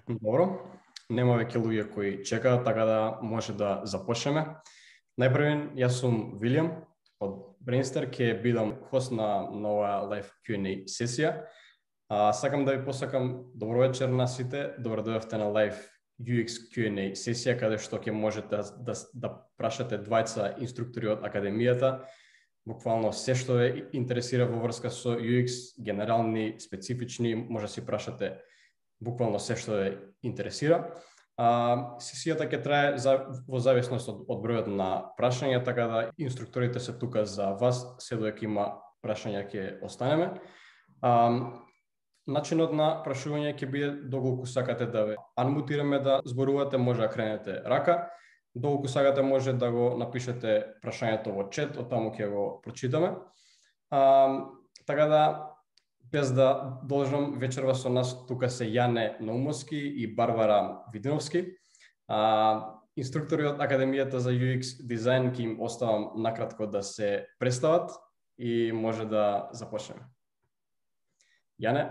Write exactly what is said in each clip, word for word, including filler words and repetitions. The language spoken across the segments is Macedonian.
Добро, нема веќе луѓе кои чекаат, така да може да започнеме. Најпрвен, јас сум Вилијам од Brainster, ќе бидам хост на нова live Q and A сесија. А, сакам да ви посакам добро вечер на сите, добро дојдовте на live ю екс Q and A сесија, каде што ќе можете да, да, да прашате двајца инструктори од академијата, буквално се што ве интересира во врска со ю екс, генерални, специфични, може да си прашате буквално се што ве интересира. А, сесијата ќе трае за, во зависност од, од бројот на прашања, така да инструкторите се тука за вас, се додека има прашања ќе останеме. А, начинот на прашување ќе биде доколку сакате да ве анмутираме да зборувате, може да кренете рака, доколку сакате може да го напишете прашањето во чет, оттаму ќе го прочитаме. А, така да без да должам, вечерва со нас тука се Јане Наумовски и Барбара Видиновски. А, инструктори од Академијата за ю екс дизајн, ќе им оставам накратко да се представат и може да започнеме. Јане?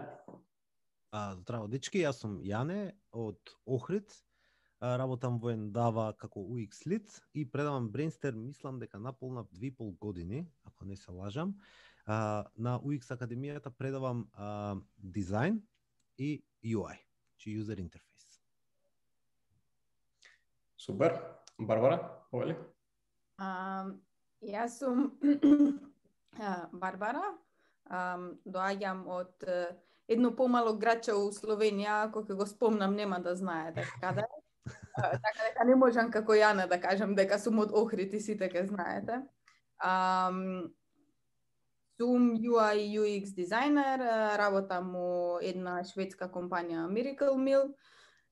А, здраво, дечки, јас сум Јане од Охрид. А, работам во Ендава како ю екс лид и предавам Brainster, мислам дека наполна две и пол години, ако не се лажам. Uh, на ю екс Академијата предавам uh, дизајн и ю ај, чи user interface. Супер. Барбара, повели? Uh, јас сум Барбара. Uh, доаѓам од uh, едно помало градче у Словенија, кога го спомнам нема да знаете каде. Uh, така дека не можам како Јана да кажам дека сум од Охрид и сите ке знаете. Um, Сум ю ај и ю екс дизајнер, работам у една шведска компанија Miracle Mill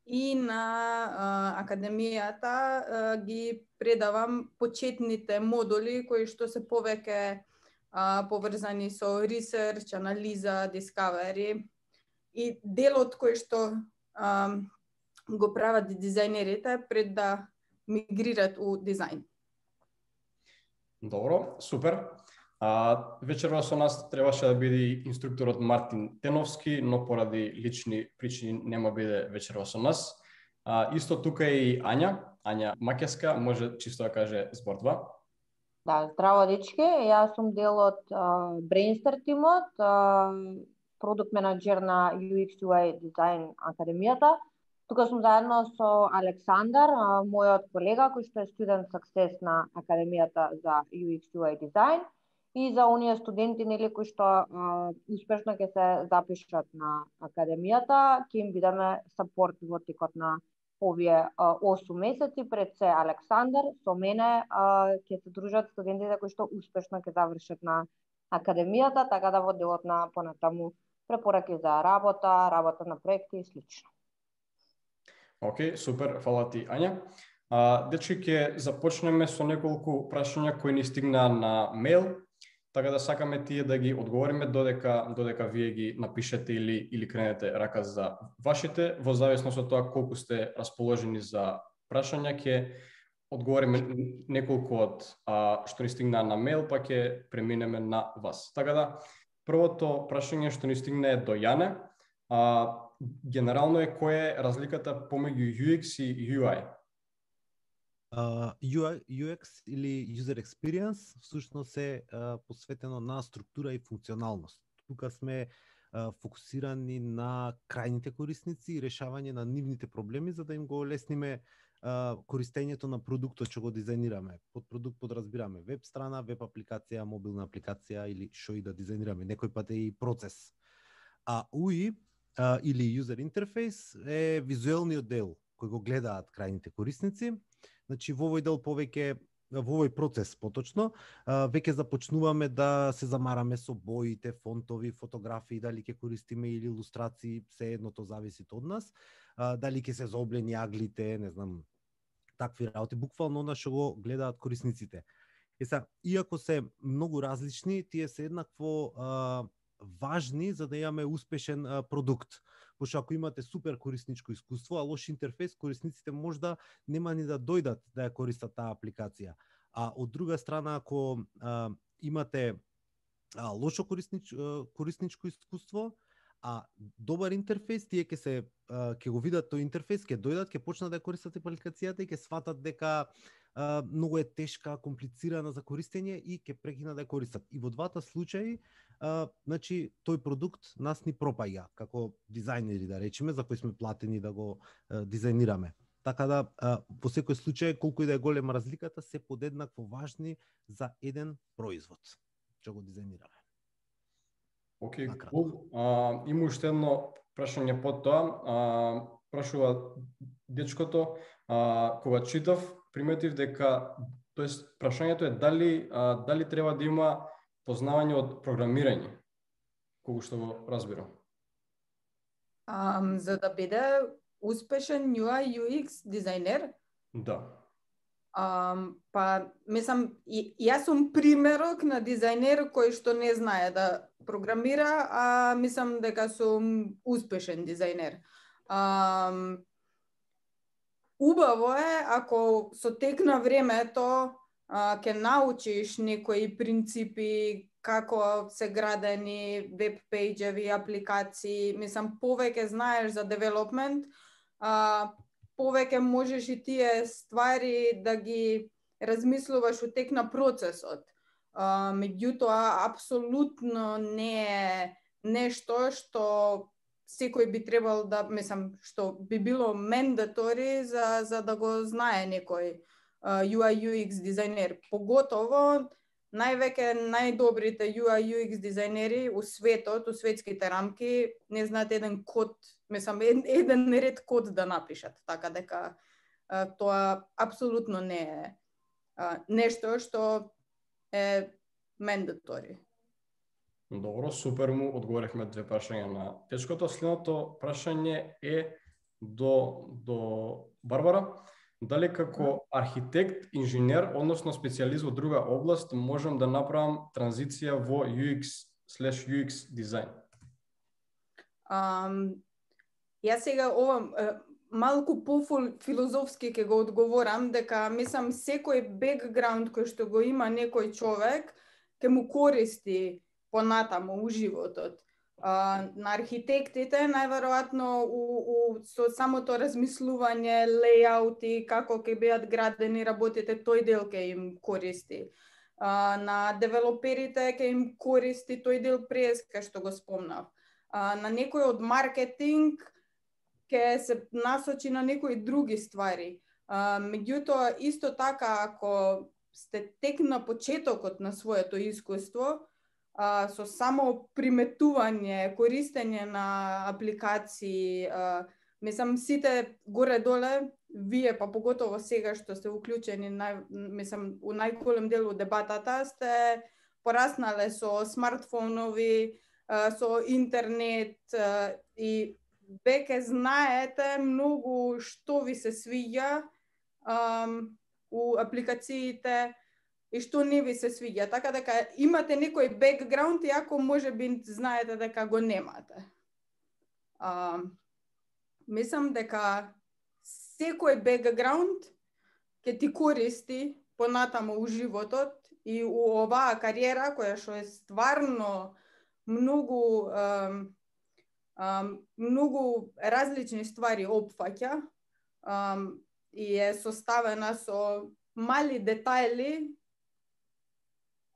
и на а, академијата а, ги предавам почетните модули кои што се повеќе а, поврзани со research, анализа, discovery и делот кој што а, го прават дизајнерите пред да мигрират у дизајн. Добро, супер. А, вечерва со нас требаше да биде инструкторот Мартин Теновски, но поради лични причини нема биде вечерва со нас. А, исто тука е и Ања, Ања Макеска, може чисто да каже збор два. Да, здраво дечки, јас сум дел од uh, Brainster тимот, uh, продукт менеджер на ю екс ю ај дизајн академијата. Тука сум заедно со Александар, uh, мојот колега кој што е студент success на академијата за ю екс ю ај дизајн. И за оние студенти нели кои што а, успешно ќе се запишат на академијата, ќе им бидеме сапорт во текот на овие осум месеци. Пред се Александар, со мене а, ќе се дружат студентите кои што успешно ќе завршат на академијата, така да во делот на понатаму препораки за работа, работа на проекти и слично. Океј, супер, фала ти Ања. А, дечки, ќе започнеме со неколку прашања кои ни стигнаа на мејл. Така да сакаме тие да ги одговориме додека додека вие ги напишете или или кренете рака за вашите, во зависност од тоа колку сте расположени за прашања, ќе одговориме неколку од а, што ни стигнаа на мејл, па ќе преминеме на вас. Така да првото прашање што ни стигна е до Јане, а, генерално е која е разликата помеѓу ю екс и ю ај? Uh, ю ај, ю екс или User Experience всушност е uh, посветено на структура и функционалност. Тука сме uh, фокусирани на крајните корисници и решавање на нивните проблеми за да им го олесниме uh, користењето на продуктот што го дизајнираме. Под продукт подразбираме веб страна, веб апликација, мобилна апликација или што и да дизајнираме. Некој пат е и процес. А ю ај uh, или User Interface е визуелниот дел кој го гледаат крајните корисници. Значи, во овој дел повеќе, во овој процес поточно, веќе започнуваме да се замараме со боите, фонтови, фотографии, дали ќе користиме или илустрации, се едното зависи од нас, дали ќе се заоблени аглите, не знам, такви работи, буквално она што го гледаат корисниците. Е са, иако се многу различни, тие се еднакво а, важни за да имаме успешен а, продукт. Пошто ако имате супер корисничко искуство, а лош интерфейс, корисниците можда нема ни да дојдат да ја користат таа апликација. А од друга страна, ако а, имате а, лошо кориснич, а, корисничко искуство, А добар интерфејс, тие ќе се ќе го видат тој интерфејс, ќе дојдат, ќе почнат да користат апликацијата и ќе сватат дека а, многу е тешка, комплицирана за користење и ќе прекинат да ја користат. И во двата случаи, а, значи тој продукт нас ни пропаѓа како дизајнери, да речеме, за кои сме платени да го а, дизајнираме. Така да а, во секој случај, колку и да е голема разликата, се подеднакво важни за еден производ што го дизајнираме. Океј, okay, cool. А, има уште едно прашање под тоа. А, прашува дечкото, а, кога читав, приметив дека, тоест прашањето е дали а, дали треба да има познавање од програмирање, колку што го разбирам. Um, за да биде успешен ю ај ю екс дизајнер? Да. Um, па, мислам, и, јас сум примерок на дизајнер кој што не знае да програмира, а мислам дека сум успешен дизајнер. Um, убаво е ако со тек на времето а, ќе научиш некои принципи како се градени веб пејџеви, апликации, мислам повеќе знаеш за девелопмент, а, повеќе можеш и тие ствари да ги размислуваш во тек на процесот. А, меѓутоа, апсолутно не е нешто што секој би требал да, мислам, што би било мендатори за, за да го знае некој uh, ю ај ю екс дизајнер. Поготово, највеќе најдобрите ю ај ю екс дизајнери у светот, у светските рамки, не знаат еден код, мислам, еден ред код да напишат, така дека uh, тоа апсолутно не е uh, нешто што е мендатори. Добро, супер, му одговорихме две прашања на дечкото. Следното прашање е до, до Барбара. Дали како архитект, инженер, односно специјалист во друга област, можам да направам транзиција во ю екс слеш ю екс дизајн? Um, јас сега ова малку по-филозофски ќе го одговорам, дека мислам секој бекграунд кој што го има некој човек ќе му користи понатаму у животот. Uh, на архитектите најверојатно у, у, со самото размислување, лејаути, како ќе бидат градени работите, тој дел ќе им користи. Uh, на девелоперите ќе им користи тој дел преска што го спомнав. Uh, на некој од маркетинг ќе се насочи на некои други ствари. Uh, меѓутоа, исто така, ако сте тек на почетокот на своето искуство, Uh, со само приметување, користење на апликации, uh, мислам сите горе-доле, вие па поготово сега што сте уклучени, нај, мислам, у најголем дел од дебатата, сте пораснале со смартфонови, uh, со интернет uh, и веќе знаете многу што ви се свиѓа um, у апликациите, и што не ви се свиѓа, така дека имате некој бекграунд, иако може би знаете дека го немате. А, мислам дека секој бекграунд ќе ти користи понатаму у животот и у оваа кариера која што е стварно многу ам, ам, многу различни ствари опфаќа ам, и е составена со мали детајли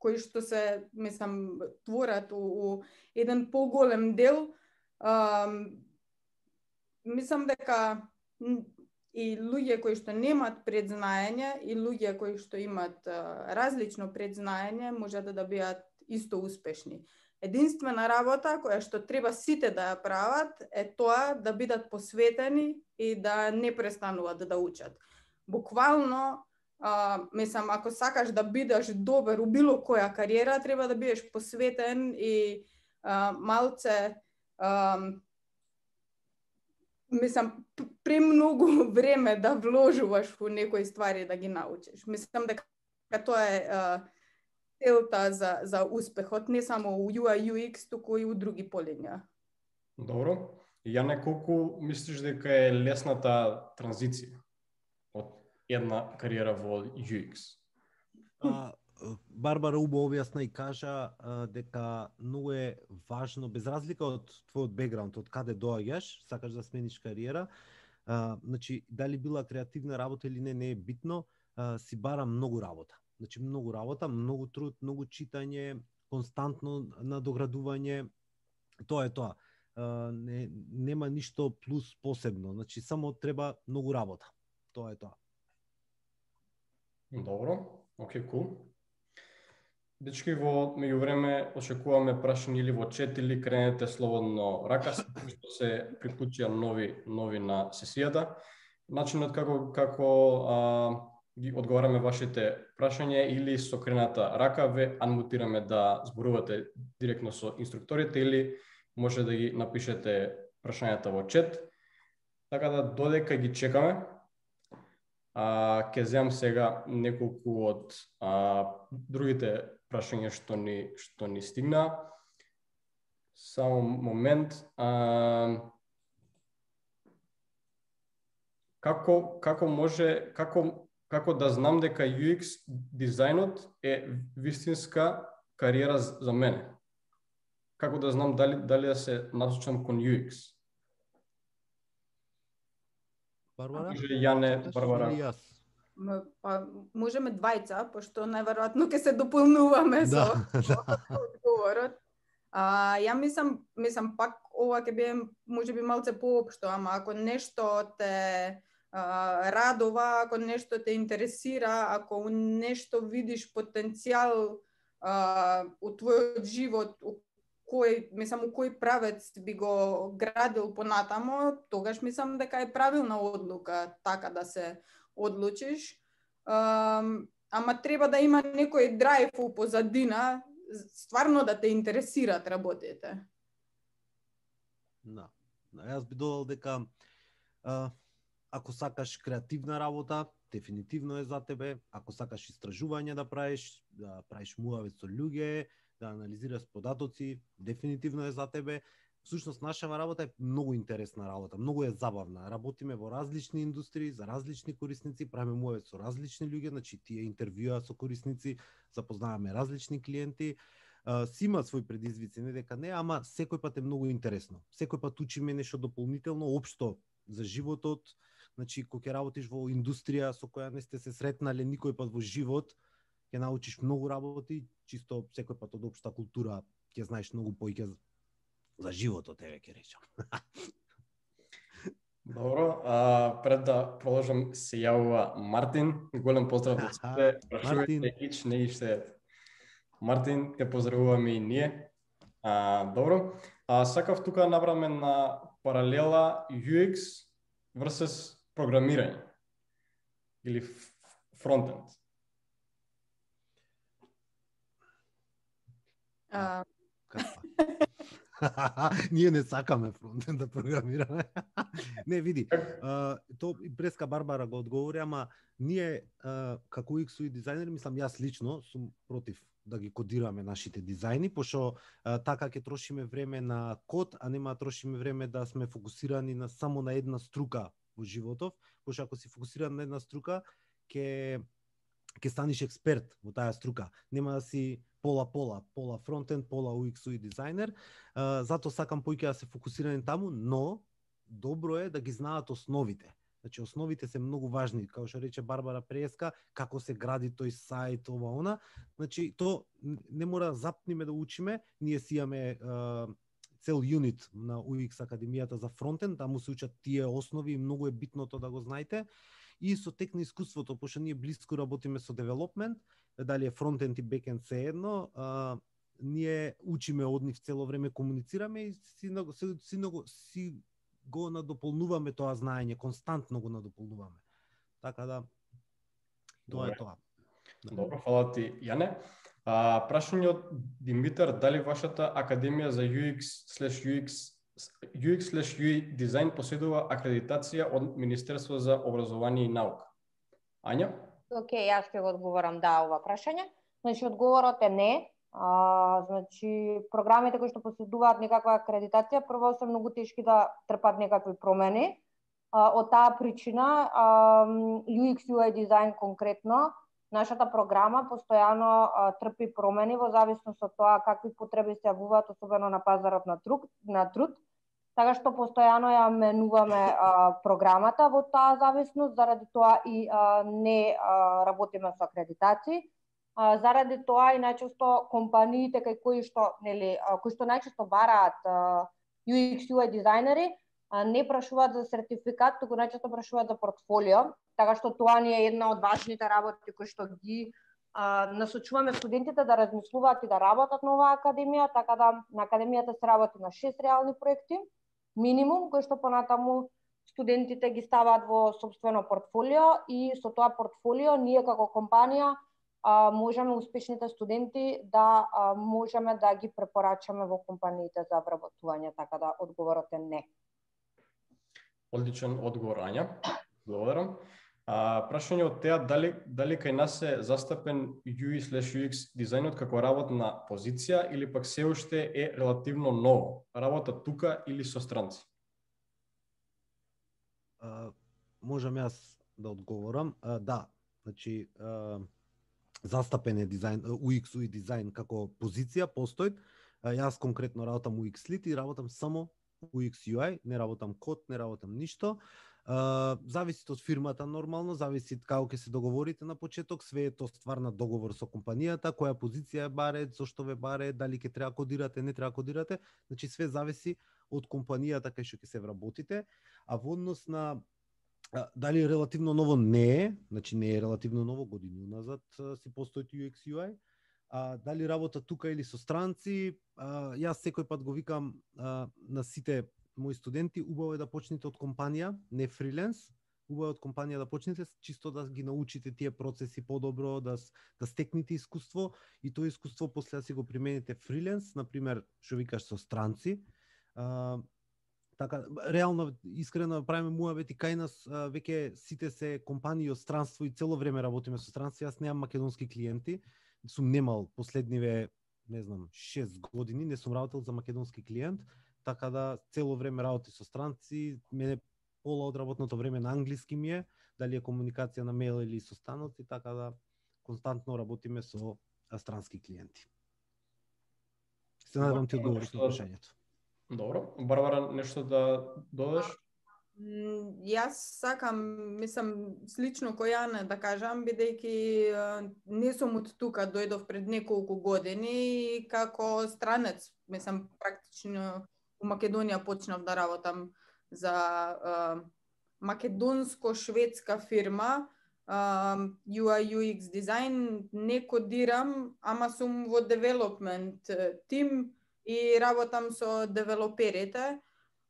кои што се, мислам, творат у, у еден поголем дел. Um, мислам дека и луѓе кои што немат предзнаење и луѓе кои што имат uh, различно предзнаење можат да бидат исто успешни. Единствена работа која што треба сите да ја прават е тоа да бидат посветени и да не престануваат да учат. Буквално, Uh, мислам, ако сакаш да бидеш добар у било која кариера, треба да бидеш посветен и uh, малце, uh, мислам, премногу време да вложуваш во некои ствари да ги научиш. Мислам дека тоа е uh, целта за, за успехот, не само у ю ај ю екс, туку и у други полиња. Добро. Јане, колку мислиш дека е лесната транзиција од една кариера во ю екс? А, Барбара убаво објасна и кажа а, дека многу е важно, без разлика од твојот бекграунд, од каде доаѓаш, сакаш да смениш кариера, а, значи дали била креативна работа или не, не е битно, а, си бара многу работа. Значи многу работа, многу труд, многу читање, константно надоградување. Тоа е тоа. А, не, нема ништо плюс посебно, значи само треба многу работа. Тоа е тоа. Добро, окей, кул. Дечки, во меѓувреме очекуваме прашања или во чет или кренете слободно рака, што се приклучија нови нови на сесијата. Начинот како како а, ги одговараме вашите прашања или со крената рака ве анмутираме да зборувате директно со инструкторите или може да ги напишете прашањата во чет. Така да додека ги чекаме, а, ке земам сега неколку од а, другите прашања што ни што ни стигна. Само момент. А, како како може како како да знам дека ю екс дизајнот е вистинска кариера за мене? Како да знам дали дали да се насочам кон ю екс? Барбара? Може Јане, Барбара. Или јас? Па можеме двајца, пошто најверојатно ќе се дополнуваме со Да. одговорот. А, ја мислам, мислам пак ова ќе биде можеби малце поопшто, ама ако нешто те а, радува, ако нешто те интересира, ако нешто видиш потенцијал а, у твојот живот, у кој, мислам, у кој правец би го градил понатамо, тогаш мислам дека е правилна одлука така да се одлучиш. Um, ама треба да има некој драйв у позадина, стварно да те интересираат работите. Да. Да, јас би додал дека а, ако сакаш креативна работа, дефинитивно е за тебе. Ако сакаш истражување да правиш, да правиш муавет со луѓе, да анализираш податоци, дефинитивно е за тебе. Всушност, нашава работа е многу интересна работа, многу е забавна. Работиме во различни индустрии, за различни корисници, правиме муавет со различни луѓе, значи тие интервјуа со корисници, запознаваме различни клиенти. Uh, си има своји предизвици, не дека не, ама секој пат е многу интересно. Секој пат учиме нешто дополнително, општо за животот. Значи, кога ќе работиш во индустрија со која не сте се сретнале никој пат во живот, ќе научиш многу работи, чисто секој пат од општа култура ќе знаеш многу поиќе за животот, еве ќе речам. Добро, а, пред да продолжам се јавува Мартин. Голем поздрав од сите. Прашувајте ич не иште. Мартин, те поздравуваме и ние. А, добро. А, сакав тука направиме на паралела ю екс versus програмирање или фронтенд. А... Ние не сакаме фронтенд да програмираме. Не, види, а, то и преска Барбара го одговори, ама ние а, како ю екс и дизајнери, мислам јас лично сум против да ги кодираме нашите дизајни, пошто а, така ќе трошиме време на код, а нема да трошиме време да сме фокусирани на само на една струка во животов, пошто ако си фокусиран на една струка, ќе ќе станеш експерт во таа струка. Нема да си пола-пола, пола фронтенд, пола ю екс и дизајнер. А, зато сакам поиќе да се фокусирани таму, но добро е да ги знаат основите. Значи, основите се многу важни, како што рече Барбара преска, како се гради тој сајт, ова, она. Значи, то не мора да запниме да учиме, ние си имаме а, цел юнит на ю екс Академијата за фронтенд, таму се учат тие основи и многу е битно тоа да го знаете. И со тек на искуството, пошто ние блиско работиме со девелопмент, дали е фронтенд и бекенд се едно, а, ние учиме од нив цело време, комуницираме и си, си, си, си го надополнуваме тоа знаење, константно го надополнуваме. Така да, тоа е тоа. Добро, фала ти, Јане. А, прашање од Димитар, дали вашата Академија за ю екс слеш ю екс ю екс слеш ю ай дизајн поседува акредитација од Министерство за образование и наука? Ања? Океј, јас ќе го одговорам да ова прашање. Значи, одговорот е не. А, значи, програмите кои што поседуваат некаква акредитација, прво се многу тешки да трпат некакви промени. А, од таа причина, а, ю екс ю ай дизајн конкретно нашата програма постојано а, трпи промени во зависност од тоа какви потреби се јавуваат, особено на пазарот на труд, на труд. Така што постојано ја менуваме а, програмата во таа зависност, заради тоа и а, не а, работиме со акредитации. А, заради тоа и најчесто компаниите кај кои што, нели, а, кои што најчесто бараат а, ю екс ю ај дизајнери, а, не прашуваат за сертификат, туку најчесто прашуваат за портфолио. Така што тоа ни е една од важните работи кои што ги а, насочуваме студентите да размислуваат и да работат на оваа академија, така да на академијата се работи на шест реални проекти минимум, кои што понатаму студентите ги ставаат во собствено портфолио и со тоа портфолио ние како компанија а, можеме успешните студенти да а, можеме да ги препорачаме во компаниите за вработување, така да одговорот е не. Одличен одговор, Ања. Благодарам. А, прашање од теа, дали, дали кај нас е застапен ю ай слеш ю екс дизајнот како работна позиција или пак се уште е релативно ново? Работа тука или со странци? А, можам јас да одговорам. А, да, значи а, застапен е дизајн, ю екс ю ай дизајн како позиција, постои. А, јас конкретно работам ю екс Lead и работам само ю екс ю ај, не работам код, не работам ништо. Uh, зависи од фирмата нормално, зависи како ќе се договорите на почеток, све е тоа ствар на договор со компанијата, која позиција е баре, зошто ве баре, дали ќе треба кодирате, не треба кодирате, значи све зависи од компанијата кај што ќе се вработите, а во однос на а, дали е релативно ново, не е, значи не е релативно ново, години уназад си постои ю екс ю ај, а дали работа тука или со странци, а, јас секој пат го викам а, на сите мои студенти, убаво е да почнете од компанија, не фриленс, убаво е од компанија да почнете, чисто да ги научите тие процеси подобро, да, да стекнете искуство и тоа искуство после да си го примените фриленс, например, што викаш со странци. А, така, реално, искрено правиме муабети кај нас, а, веќе сите се компании од странство и цело време работиме со странци, јас немам македонски клиенти, сум немал последниве, не знам, шест години, не сум работел за македонски клиент, така да цело време работи со странци, мене пола од работното време на англиски ми е, дали е комуникација на мејл или со станоци, така да константно работиме со странски клиенти. Се надевам ти одговориш на прашањето. Добро. Барбара, нешто да додадеш? Јас сакам, мислам, слично кој Јана да кажам, бидејќи не сум од тука, дојдов пред неколку години и како странец, мислам, практично у Македонија почнав да работам за а, македонско-шведска фирма, а, ю ај ю екс дизајн, не кодирам, ама сум во девелопмент тим и работам со девелоперите.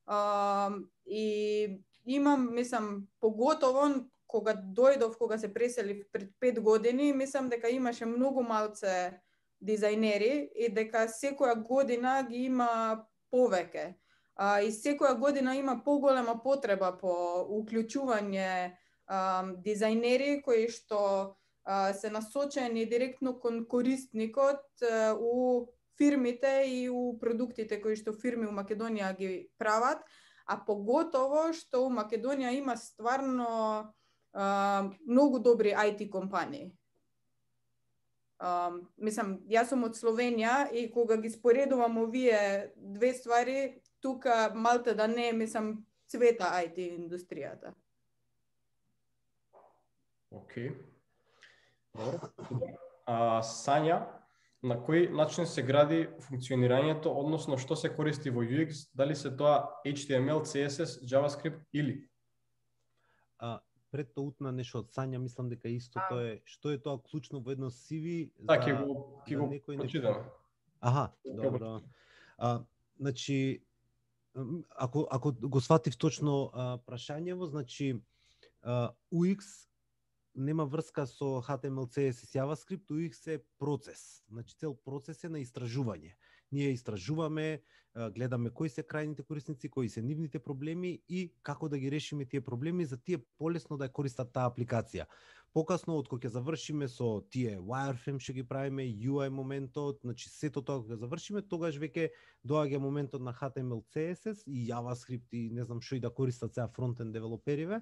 А, и имам, мислам, поготово кога дојдов, кога се преселив пред пет години, мислам дека имаше многу малце дизајнери и дека секоја година ги има повеќе. А, и секоја година има поголема потреба по уклучување а, дизајнери кои што а, се насочени директно кон корисникот а, у фирмите и у продуктите кои што фирми у Македонија ги прават, а поготово што у Македонија има стварно а, многу добри ај ти компании. Uh, мислам, јас сум од Словенија и кога ги споредувам овие две ствари, тука малте да не, мислам, цвета ај ти индустријата. Океј. Добро. А, Сања, на кој начин се гради функционирањето, односно што се користи во ю екс, дали се тоа ейч ти ем ел, си ес ес, JavaScript или? А, пред тоа утна нешто од Сања, мислам дека истото е, што е тоа клучно во едно си ви за да, ќе го, ќе го некој прочитам. Аха, добро. А, значи, ако, ако го сватив точно а, прашањево, значи, а, ю екс нема врска со ейч ти ем ел, си ес ес, JavaScript, ю екс е процес. Значи, цел процес е на истражување. Ние истражуваме, гледаме кои се крајните корисници, кои се нивните проблеми и како да ги решиме тие проблеми за тие полесно да ја користат таа апликација. покасно од кога ќе завршиме со тие wireframe што ги правиме, ю ай моментот, значи сето тоа кога завршиме, тогаш веќе доаѓа моментот на H T M L, C S S и JavaScript и не знам што и да користат сега фронтенд девелопериве.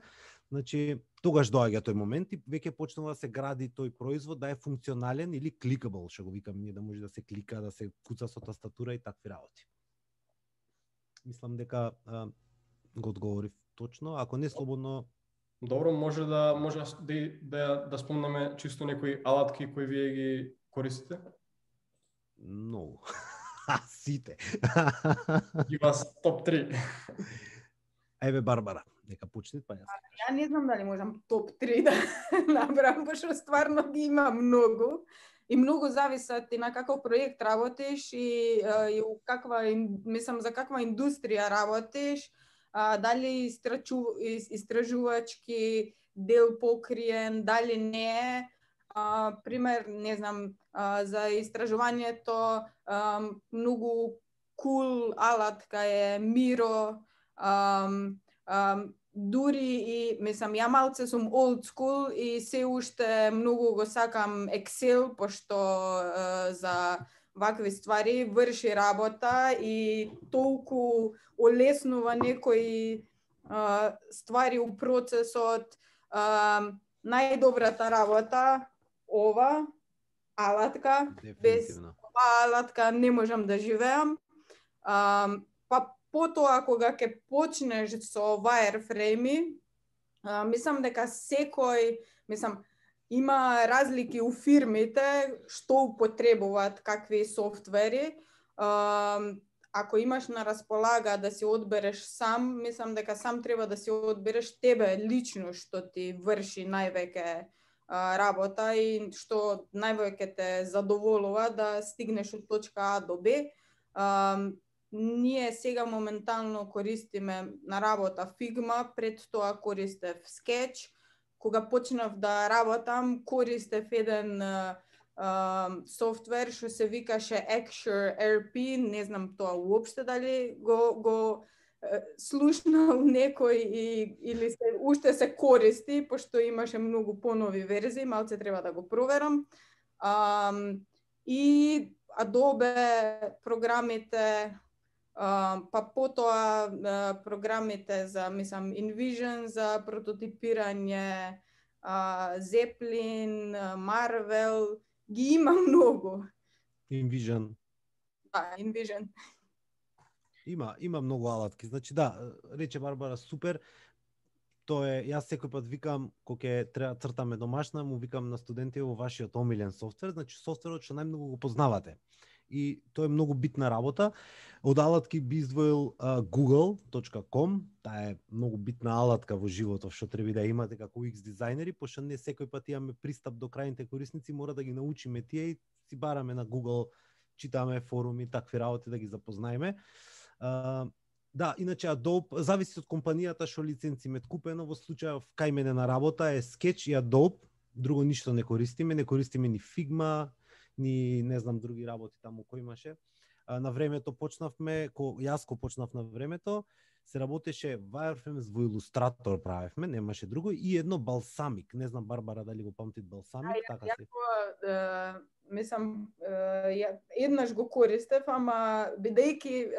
Значи тогаш доаѓа тој момент и веќе почнува да се гради тој производ да е функционален или clickable, што го викам ние, да може да се клика, да се куца со тастатура и такви работи. Мислам дека а, го одговорив точно, ако не слободно. Добро, може да може да да, да спомнеме чисто некои алатки кои вие ги користите? Многу. Сите. Ги вас топ три. Еве Барбара, нека почне па јас. Ја не знам дали можам топ три да набрам, пошто стварно ги има многу. И многу зависат и на каков проект работиш и, и у каква, мислам, за каква индустрија работиш, а, дали истрачу, истражувачки дел покриен, дали не е. А, пример, не знам, а, за истражувањето а, многу кул алатка е Miro, а, а, дури и, мислам, ја малце сум old school и се уште многу го сакам Excel, пошто е, за вакви ствари врши работа и толку олеснува некои е, ствари у процесот. Е, најдобрата работа ова алатка, без ова алатка не можам да живеам. Е, па потоа кога ќе почнеш со wireframe, мислам дека секој, мислам, има разлики у фирмите што употребуваат какви софтвери. Ако имаш на располага да си одбереш сам, мислам дека сам треба да си одбереш тебе лично што ти врши највеќе работа и што највеќе те задоволува да стигнеш од точка А до Б. Ние сега моментално користиме на работа Figma, пред тоа користев Sketch. Кога почнав да работам, користев еден uh, uh, софтвер што се викаше Axure Р П, не знам тоа уопште дали го, го uh, слушнал некој и, или се, уште се користи, пошто имаше многу понови верзии, малце треба да го проверам. Um, и Adobe програмите, Uh, па потоа uh, програмите за, мислам, InVision за прототипирање, uh, Zeppelin, uh, Marvel, ги има многу. InVision. Да, InVision. Има, има многу алатки. Значи да, рече Барбара, супер. Тоа е, јас секој пат викам, кога ќе треба цртаме домашна, му викам на студенти во вашиот омилен софтвер, значи софтверот што најмногу го познавате. И тоа е многу битна работа. Од алатки би издвоил uh, google точка com, таа е многу битна алатка во животот што треба да имате како ю екс дизајнери, пошто не секој пат имаме пристап до крајните корисници, мора да ги научиме тие и си бараме на Google, читаме форуми, такви работи да ги запознаеме. Uh, да, иначе Adobe зависи од компанијата што лиценци имат купено. Во случајов кај мене на работа е Sketch и Adobe, друго ништо не користиме, не користиме ни Figma, ни не знам други работи таму кои имаше. А, на времето почнавме, ко јас ко почнав на времето, се работеше wireframe во Illustrator правевме, немаше друго и едно Balsamic. Не знам Барбара дали го памтит Balsamic, а, така се. Ја мислам ја еднаш го користев, ама бидејќи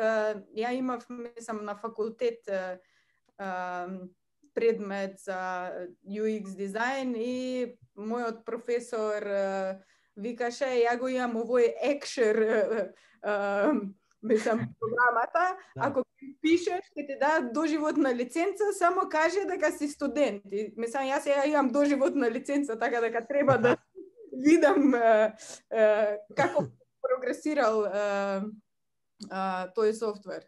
ја имав, мислам, на факултет предмет за ю екс дизајн и мојот професор викаше, ја го имам овој Axure, мислам, програмата, да. Ако пишеш, ќе ти дадат доживотна лиценца, само каже дека си студент. И, мислам, јас ја имам доживотна лиценца, така дека треба да видам uh, uh, како прогресирал uh, uh, тој софтвер.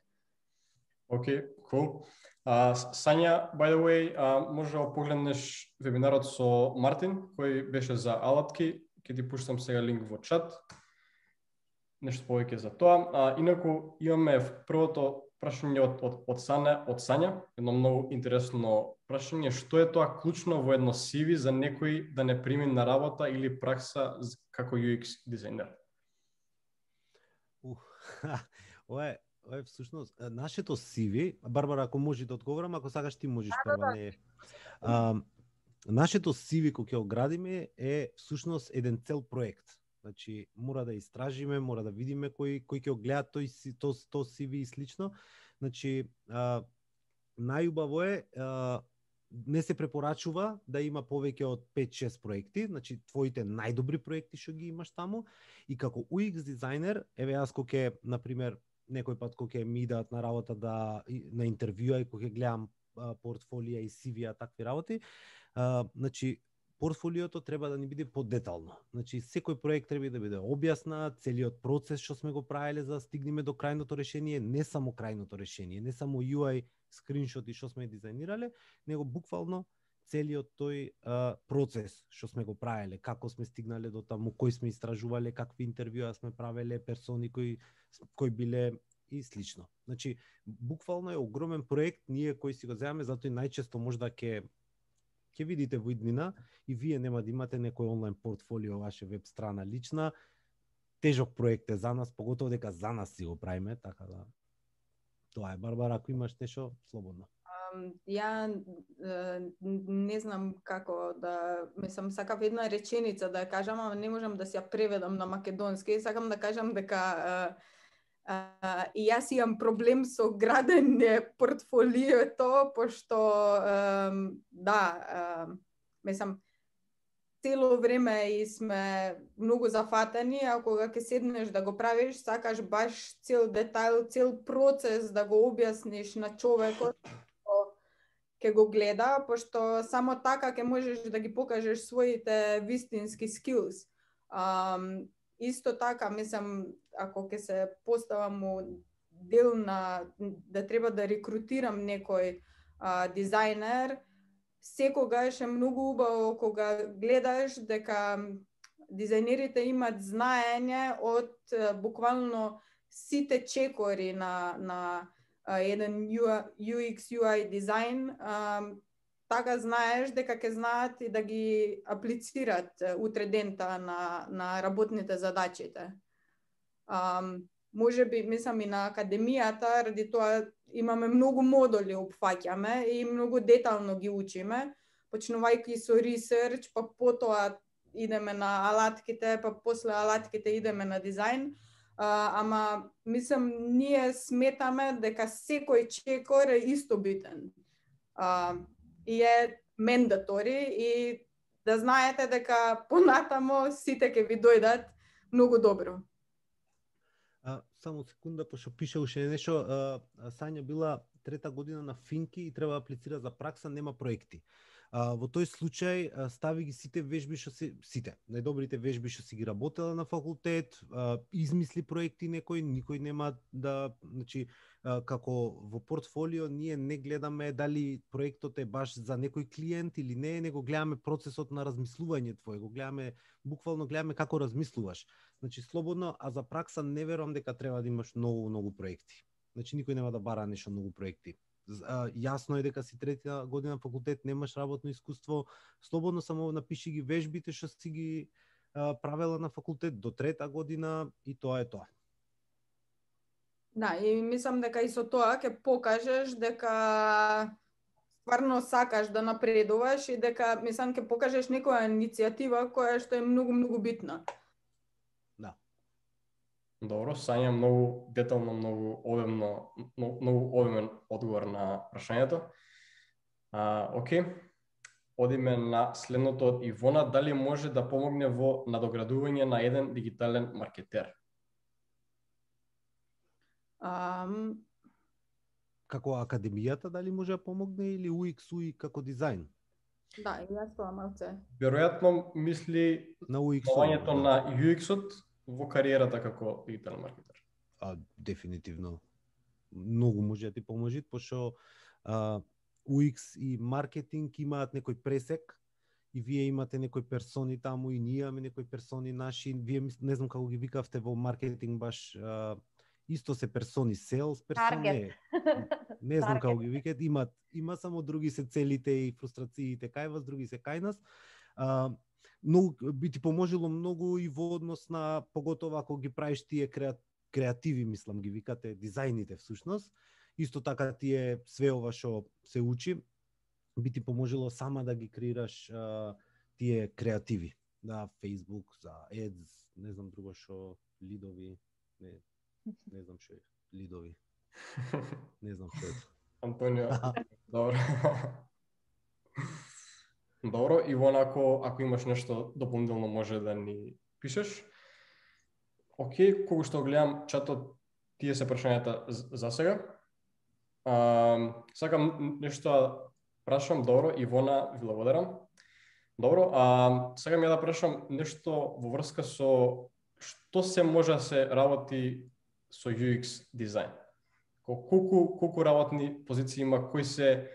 Окей, okay, cool. Uh, Сања, by the way, uh, може да погледнеш вебинарот со Мартин, кој беше за алатки. Ќе ти пуштам сега линк во чат. Нешто повеќе за тоа. А, инаку имаме првото прашање од, од, од, Сања, од Сања, едно многу интересно прашање. Што е тоа клучно во едно си ви за некој да не прими на работа или пракса како ю екс дизајнер? Uh, ова е, ова е всушност нашето си ви. Барбара, ако може да одговорам, ако сакаш ти можеш прва, не е. А, нашето си ви кој ќе го градиме е всушност еден цел проект. Значи мора да истражиме, мора да видиме кој кој ќе го гледа тој си то то си ви и слично. Значи а, најубаво е а, не се препорачува да има повеќе од пет-шест проекти, значи твоите најдобри проекти што ги имаш таму и како ю екс дизајнер, еве јас кога ќе на пример некој пат кога ќе ми дадат на работа да на интервјуа и кога ќе гледам а, портфолија и си ви-а такви работи, а, значи портфолиото треба да ни биде подетално. Значи секој проект треба да биде објаснат, целиот процес што сме го правеле за да стигнеме до крајното решение, не само крајното решение, не само ю ај скриншоти што сме дизајнирале, него буквално целиот тој а, процес што сме го правеле, како сме стигнале до таму, кои сме истражувале, какви интервјуа сме правеле, персони кои кои биле и слично. Значи буквално е огромен проект, ние кои си го земаме, затоа и најчесто можда ќе ќе видите во иднина и вие нема да имате некој онлайн портфолио, ваше веб страна лична. Тежок проект е за нас, поготово дека за нас си го правиме, така да тоа е. Барбара, ако имаш нешто, слободно. Um, ја uh, не знам како да, мислам, сакав една реченица да ја кажам, ама не можам да си ја преведам на македонски. Сакам да кажам дека uh, uh, и јас имам проблем со градење портфолиото, пошто um, да, uh, мислам, цело време и сме многу зафатени, а кога ќе седнеш да го правиш, сакаш баш цел детайл, цел процес да го објасниш на човекот ќе го гледа, пошто само така ќе можеш да ги покажеш своите вистински skills. Um, исто така, мислам, ако ќе се поставам у дел на да треба да рекрутирам некој uh, дизајнер, секогаш е многу убаво кога гледаш дека дизајнерите имат знаење од буквално сите чекори на на uh, еден ю екс ю ај дизајн, uh, така знаеш дека ќе знаат и да ги аплицират утре дента на на работните задачите. Um, може би, мислам, и на академијата, ради тоа имаме многу модули опфаќаме и многу детално ги учиме, почнувајќи со ресерч, па потоа идеме на алатките, па после алатките идеме на дизајн. Uh, ама, мислам, ние сметаме дека секој чекор е исто битен. Uh, и е мендатори и да знаете дека понатамо сите ќе ви дојдат многу добро. А, само секунда, пошто пише уште нешто, а, Сања била трета година на Финки и треба да аплицира за пракса, нема проекти. А, во тој случај а, стави ги сите вежби што се сите, најдобрите вежби што си ги работела на факултет, а, измисли проекти некој, никој нема да, значи а, како во портфолио ние не гледаме дали проектот е баш за некој клиент или не, него гледаме процесот на размислување твое, го гледаме буквално гледаме како размислуваш. Значи слободно, а за пракса не верувам дека треба да имаш многу многу проекти. Значи никој нема да бара нешто многу проекти. А, јасно е дека си трета година факултет, немаш работно искуство, слободно само напиши ги вежбите што си ги а, правела на факултет до трета година и тоа е тоа. Да, и мислам дека и со тоа ќе покажеш дека стварно сакаш да напредуваш и дека, мислам, ќе покажеш некоја иницијатива која што е многу многу битна. Да. Добро, Сања, многу детално, многу обемно, многу обемен одговор на прашањето. А, окей. Одиме на следното од Ивона, дали може да помогне во надоградување на еден дигитален маркетер? Um... Како академијата дали може да помогне или ю екс ю ај како дизајн? Да, и јас тоа малце. Веројатно мисли на ю екс помагањето да. на ю екс-от во кариерата како дигитален маркетер. А, дефинитивно. Многу може да ти поможи, пошто а, ю екс и маркетинг имаат некој пресек и вие имате некои персони таму и ние имаме некои персони наши. Вие не знам како ги викавте во маркетинг баш а, исто се персони, селс персони. Не, не знам како ги викат, имат има само други се целите и фрустрациите кај вас, други се кај нас. А, многу би ти поможело многу и во однос на поготово ако ги правиш тие креативи, мислам ги викате, дизајните всушност. Исто така тие све ова што се учи. би ти поможело сама да ги креираш а, тие креативи. Да, Facebook, за Ads, не знам друго што, лидови, не, не знам што е, лидови. Не знам што е. Антонио, добро. Добро, Ивона, ако, ако имаш нешто дополнително може да ни пишеш. Океј, кога што гледам чатот, тие се прашањата за сега. А, сакам нешто прашам, добро, Ивона, ви благодарам. Добро, а сега ми да прашам нешто во врска со што се може да се работи со ю екс дизајн. Колку колку работни позиции има, кои се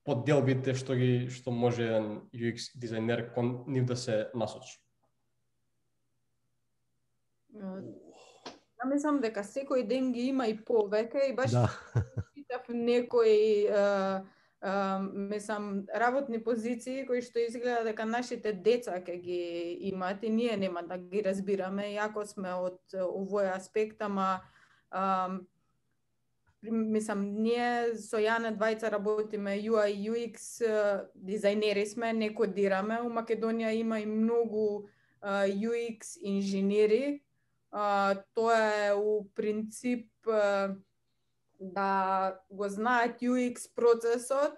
подделбите што ги што може еден ю екс дизајнер кон нив да се насочи? Ја мислам дека секој ден ги има и повеќе и баш Да. читав некои а, а, мислам работни позиции кои што изгледа дека нашите деца ќе ги имаат и ние нема да ги разбираме, иако сме од овој аспект, ама а, мислам, ние со Јане двајца работиме ю ај ю екс дизајнери сме, не кодираме. У Македонија има и многу ю екс инженери. Uh, тоа е у принцип uh, да го знаат ю екс процесот,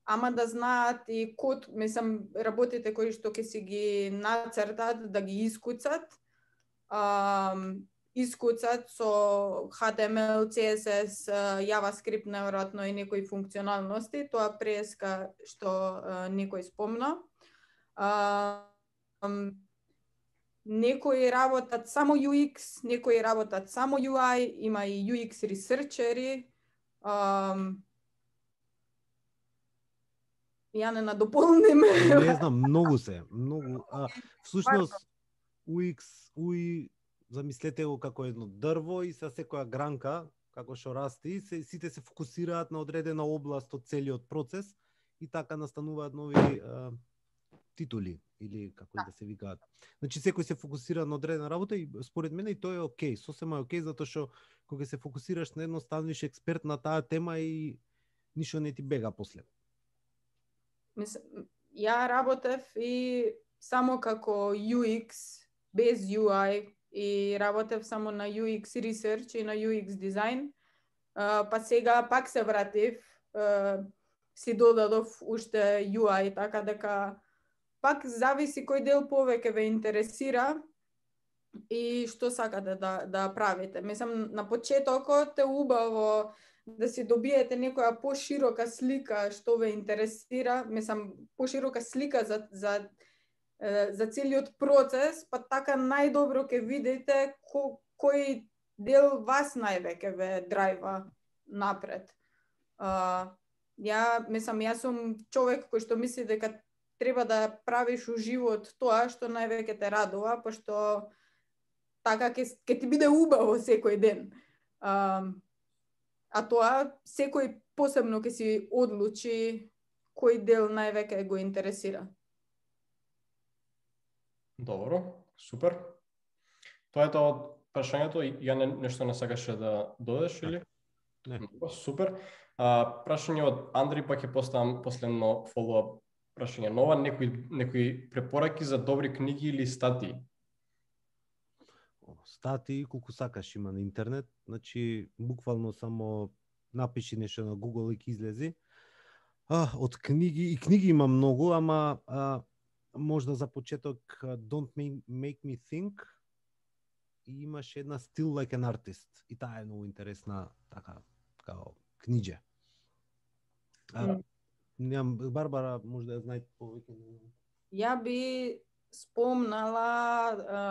ама да знаат и код, мислам, работите кои што ќе си ги нацртат, да ги искуцат. Uh, искуцат со ейч ти ем ел, си ес ес, JavaScript, неверојатно и некои функционалности, тоа преска што uh, некој спомна. Uh, um, Некои работат само ю екс, некои работат само ю ај, има и ю екс ресерчери. Um, ја не надополним. Не знам, многу се, многу. А, всушност, ю екс, ю ај, замислете го како едно дрво и со секоја гранка, како што расти, се, сите се фокусираат на одредена област од целиот процес и така настануваат нови а, титули или како да се викаат. Значи секој се фокусира на одредена работа и според мене и тоа е окей, сосема е окей затоа што кога се фокусираш на едно станеш експерт на таа тема и ништо не ти бега после. Мис, ја работев и само како ю екс без ю ај и работев само на ю екс research и на ю екс дизајн. Uh, па сега пак се вратив, uh, си додадов уште ю ај, така дека пак зависи кој дел повеќе ве интересира и што сакате да, да правите. Мислам, на почетокот е убаво да си добиете некоја поширока слика што ве интересира, мислам, поширока слика за, за, за целиот процес, па така најдобро ќе видите ко, кој дел вас највеќе ве драйва напред. Uh, ја, мислам, јас сум човек кој што мисли дека треба да правиш у живот тоа што највеќе те радува, пошто така ќе ќе ти биде убаво секој ден. А, а тоа секој посебно ќе си одлучи кој дел највеќе го интересира. Добро, супер. Тоа е тоа од прашањето. Ја не, нешто не сакаше да додеш или? Не. Супер. А, прашање од Андри, па ќе поставам последно фоллоуап прашање. Нова, некои, некои препораки за добри книги или статии? Статии, колку сакаш има на интернет, значи буквално само напиши нешто на Google и ќе излези. А, од книги, и книги има многу, ама а, можда за почеток Don't Make Me Think и имаш една Still Like an Artist и таа е многу интересна така као книџе. А, Ням, Барбара, може да ја знаете повеќе. Ја би спомнала а,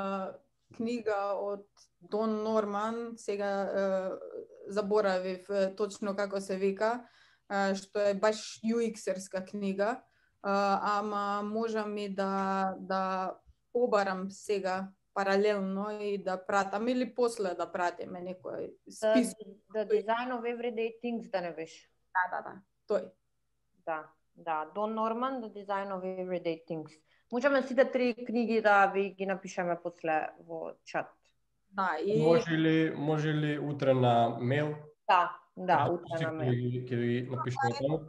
книга од Дон Норман, сега а, заборавив точно како се вика, а, што е баш ю екс-ерска книга, а, ама можам и да, да побарам сега паралелно и да пратам или после да пратиме некој спис. The, the Design of Everyday Things, да не беше? Да, да, да, тој. Да, да, Дон Норман, The Design of Everyday Things. Можеме сите три книги да ви ги напишеме после во чат. Да, и Може ли, може ли утре на мејл? Да, да, утре на мејл. Ќе ги напишеме таму.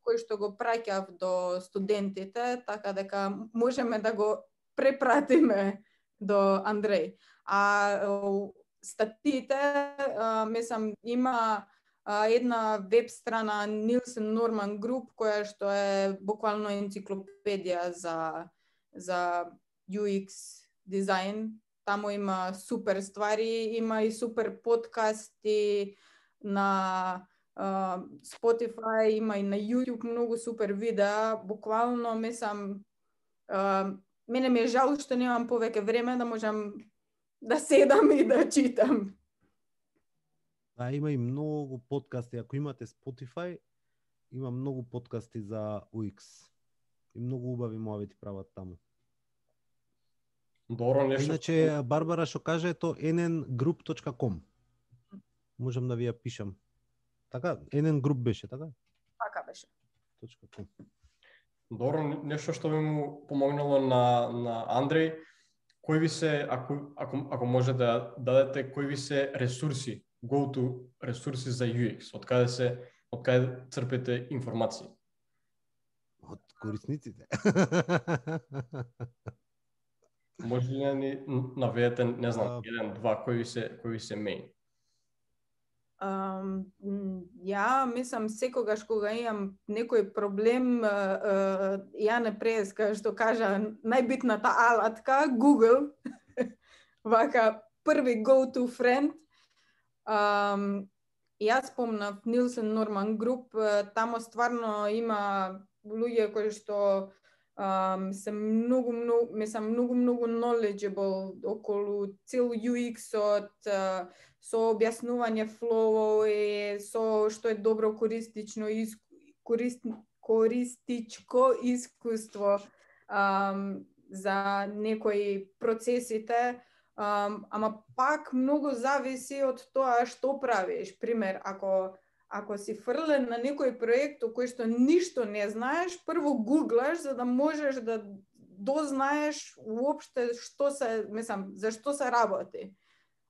кој што го праќав до студентите, така дека можеме да го препратиме до Андреј. А статиите, мислам, има една веб страна Nielsen Norman Group, која што е буквално енциклопедија за за ю екс дизајн. Таму има супер ствари, има и супер подкасти на uh, Spotify, има и на YouTube многу супер видеа. Буквално, мислам, uh, мене ми е жал што немам повеќе време да можам да седам и да читам. Да, има и многу подкасти. Ако имате Spotify, има многу подкасти за ю екс. И многу убави муавети прават таму. Добро, нешто. Иначе Барбара што каже то ен ен груп точка ком. Можам да ви ја пишам. Така, ен ен груп беше, така? Така беше. .com. Добро, нешто што би му помогнало на на Андреј, кои ви се, ако ако ако може да дадете кои ви се ресурси, go-to ресурси за ю екс, од каде се од каде црпите информации? Од корисниците. Може ли да ни наведете, не знам, А... еден, два, кои ви се кои ви се мејн? Um, ја мислам секогаш кога имам некој проблем, uh, uh, ја не преска што кажа најбитната алатка Google. Вака први go-to friend. Um, јас спомнав Nielsen Norman Group, uh, тамо стварно има луѓе кои што um, се многу многу мислам многу многу knowledgeable околу цел ю екс-от, uh, со објаснување флоуови, со што е добро користично ис... корист... користичко искуство um, за некои процесите, um, ама пак многу зависи од тоа што правиш. Пример, ако ако си фрлен на некој проект кој што ништо не знаеш, прво гуглаш за да можеш да дознаеш уопште што се, мислам, за што се работи.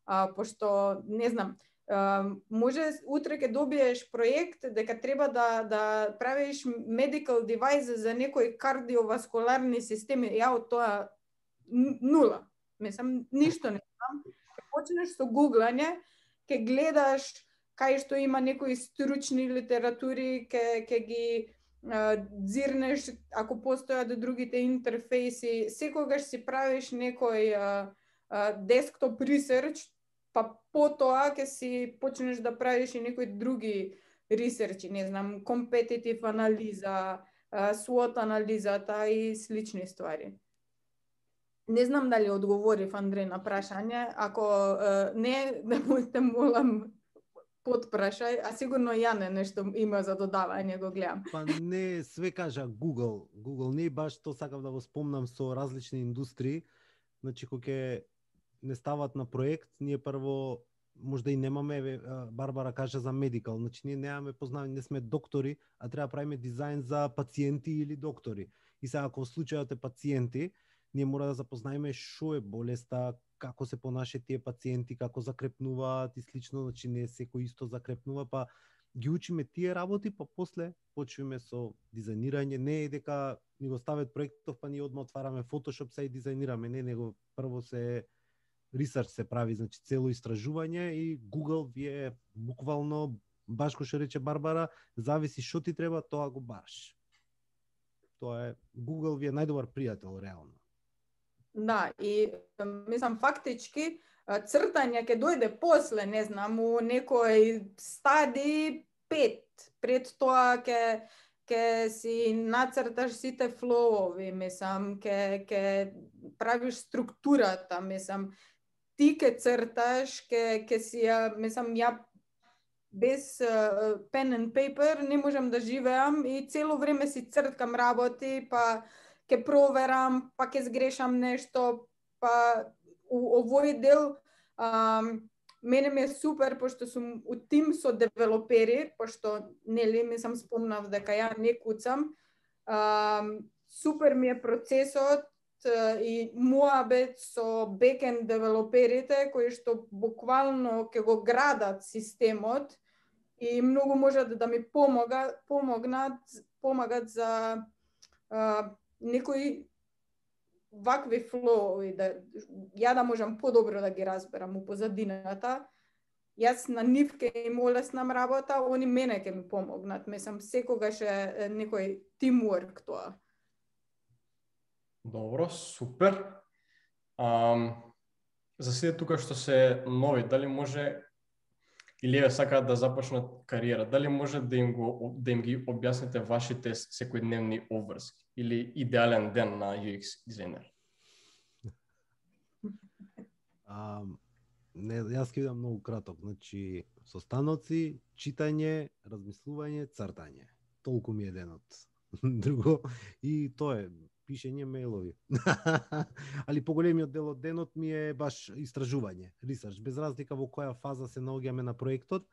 А, пошто, не знам, а, може утре ќе добиеш проект дека треба да, да правиш medical device за некои кардиоваскуларни системи. Ја од тоа нула. Мислам, ништо не знам. Ке почнеш со гуглање, ке гледаш кај што има некои стручни литератури, ке, ке ги а, дзирнеш, ако постојат другите интерфейси, секогаш си правиш некој а, а, десктоп ресерч, па потоа ќе си почнеш да правиш и некои други ресерчи, не знам, компетитив анализа, свот анализата и слични ствари. Не знам дали одговорив, Андреј, на прашање. Ако uh, не, да му те молам подпрашај, а сигурно Јане нешто има за додавање, го гледам. Па не, све кажа Google. Google не баш тоа сакав да го спомнам со различни индустрии. Значи, кога ќе не стават на проект, ние прво можда и немаме, Барбара кажа за медикал, значи ние немаме познавање, не сме доктори, а треба да правиме дизајн за пациенти или доктори. И сега ако случајот е пациенти, ние мора да запознаеме што е болеста, како се понашаат тие пациенти, како закрепнуваат и слично, значи не секој исто закрепнува, па ги учиме тие работи, па после почваме со дизајнирање. Не е дека ни го стават проектов, па ние одма отвараме Photoshop се и дизајнираме, не, него прво се ресерч се прави, значи цело истражување и Google ви е буквално, баш кој што рече Барбара, зависи што ти треба, тоа го бараш. Тоа е, Google ви е најдобар пријател, реално. Да, и мислам фактички цртање ќе дојде после, не знам, у некој стадии пет. Пред тоа ќе ќе си нацрташ сите флоуови, мислам, ќе ќе правиш структурата, мислам, ти ќе црташ, ќе ќе си ја, мислам, ја без uh, pen and paper не можам да живеам и цело време си црткам работи, па ќе проверам, па ќе сгрешам нешто, па у овој дел um, мене ми е супер, пошто сум у тим со девелопери, пошто, нели, ми сам спомнав дека ја не куцам. Um, супер ми е процесот uh, и муабет со бекенд девелоперите, кои што буквално ќе го градат системот и многу можат да ми помога, помогнат помагат за а, некои вакви флоуи, да ја да можам подобро да ги разберам у позадината. Јас на нив ке им олеснам работа, они мене ке ми помогнат. Мислам, секогаш е некој тимворк тоа. Добро, супер. Um, за сите тука што се нови, дали може или еве сакаат да започнат кариера, дали може да им го да им ги објасните вашите секојдневни обврски или идеален ден на ю екс дизајнер? А, не, јас ќе бидам многу краток. Значи, состаноци, читање, размислување, цртање. Толку ми е денот. Друго, и тоа е пишење мејлови. Али поголемиот дел од денот ми е баш истражување, ресерч. Без разлика во која фаза се наоѓаме на проектот,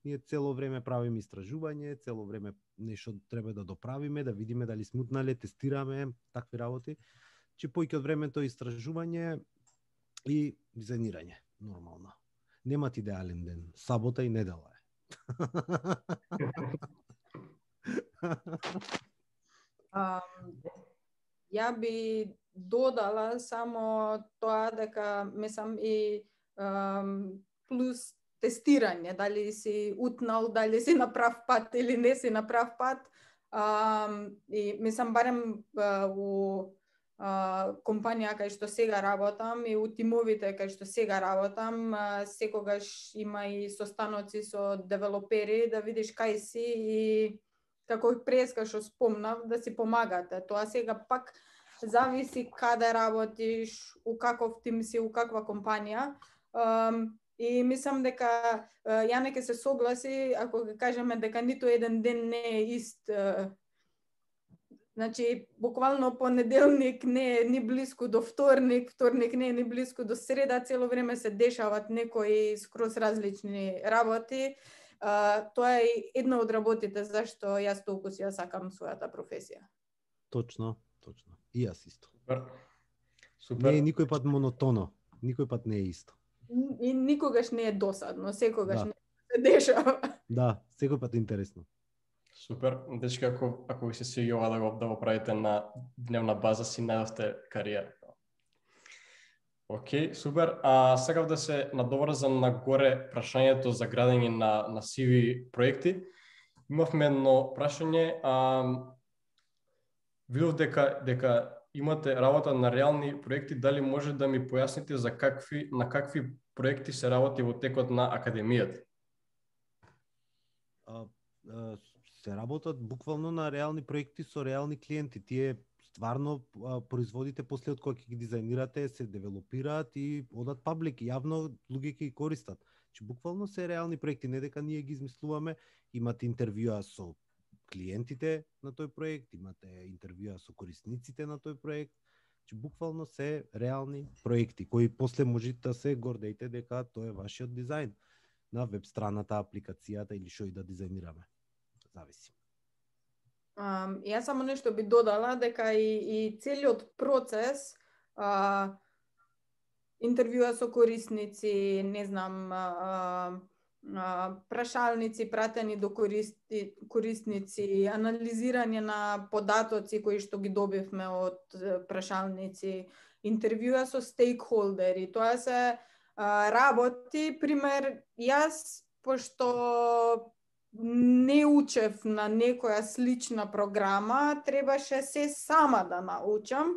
ние цело време правиме истражување, цело време нешто треба да доправиме, да видиме дали смутнале, тестираме, такви работи. Че поиќе од времето е истражување и дизајнирање, нормално. Немат идеален ден, сабота и недела е. Um, ја би додала само тоа дека мислам и um, плюс тестирање, дали си утнал, дали си на прав пат или не си на прав пат. Um, и мислам барем uh, у uh, компанија кај што сега работам и у тимовите кај што сега работам, uh, секогаш има и состаноци со девелопери да видиш кај си и како преска што спомнав, да си помагате. Тоа сега пак зависи каде работиш, у каков тим си, у каква компанија. Um, и мислам дека uh, ја не ке се согласи ако ќе кажеме дека ниту еден ден не е ист. Uh, значи, буквално понеделник не е ни блиску до вторник, вторник не е ни блиску до среда, цело време се дешават некои скроз различни работи. Uh, тоа е една од работите зашто јас толку си ја сакам својата професија. Точно, точно. И јас исто. Супер. Супер. Не е никој пат монотоно, никој пат не е исто. И никогаш не е досадно, секогаш Да. не се дешава. Да, секој пат е интересно. Супер. Дечки, ако, ако ви се свиѓа да го, да го правите на дневна база, си најдовте кариера. Океј, супер. А сакав да се надоврзам на горе прашањето за градење на, на си ви проекти. Имавме едно прашање. А, видов дека, дека имате работа на реални проекти, дали може да ми појасните за какви, на какви проекти се работи во текот на академијата? А, а, се работат буквално на реални проекти со реални клиенти. Тие стварно а, производите после од кои ќе ги дизајнирате се девелопираат и одат паблик, јавно луѓе ќе ги користат. Че буквално се реални проекти, не дека ние ги измислуваме, имате интервјуа со клиентите на тој проект, имате интервјуа со корисниците на тој проект, че буквално се реални проекти кои после можете да се гордејте дека тоа е вашиот дизајн на веб страната, апликацијата или што и да дизајнираме. Зависи. Um, јас само нешто би додала дека и, и целиот процес, а, интервјуа со корисници, не знам, а, а, прашалници пратени до користи, корисници, анализирање на податоци кои што ги добивме од прашалници, интервјуа со стейкхолдери, тоа се а, работи. Пример, јас, пошто не учев на некоја слична програма, требаше се сама да научам.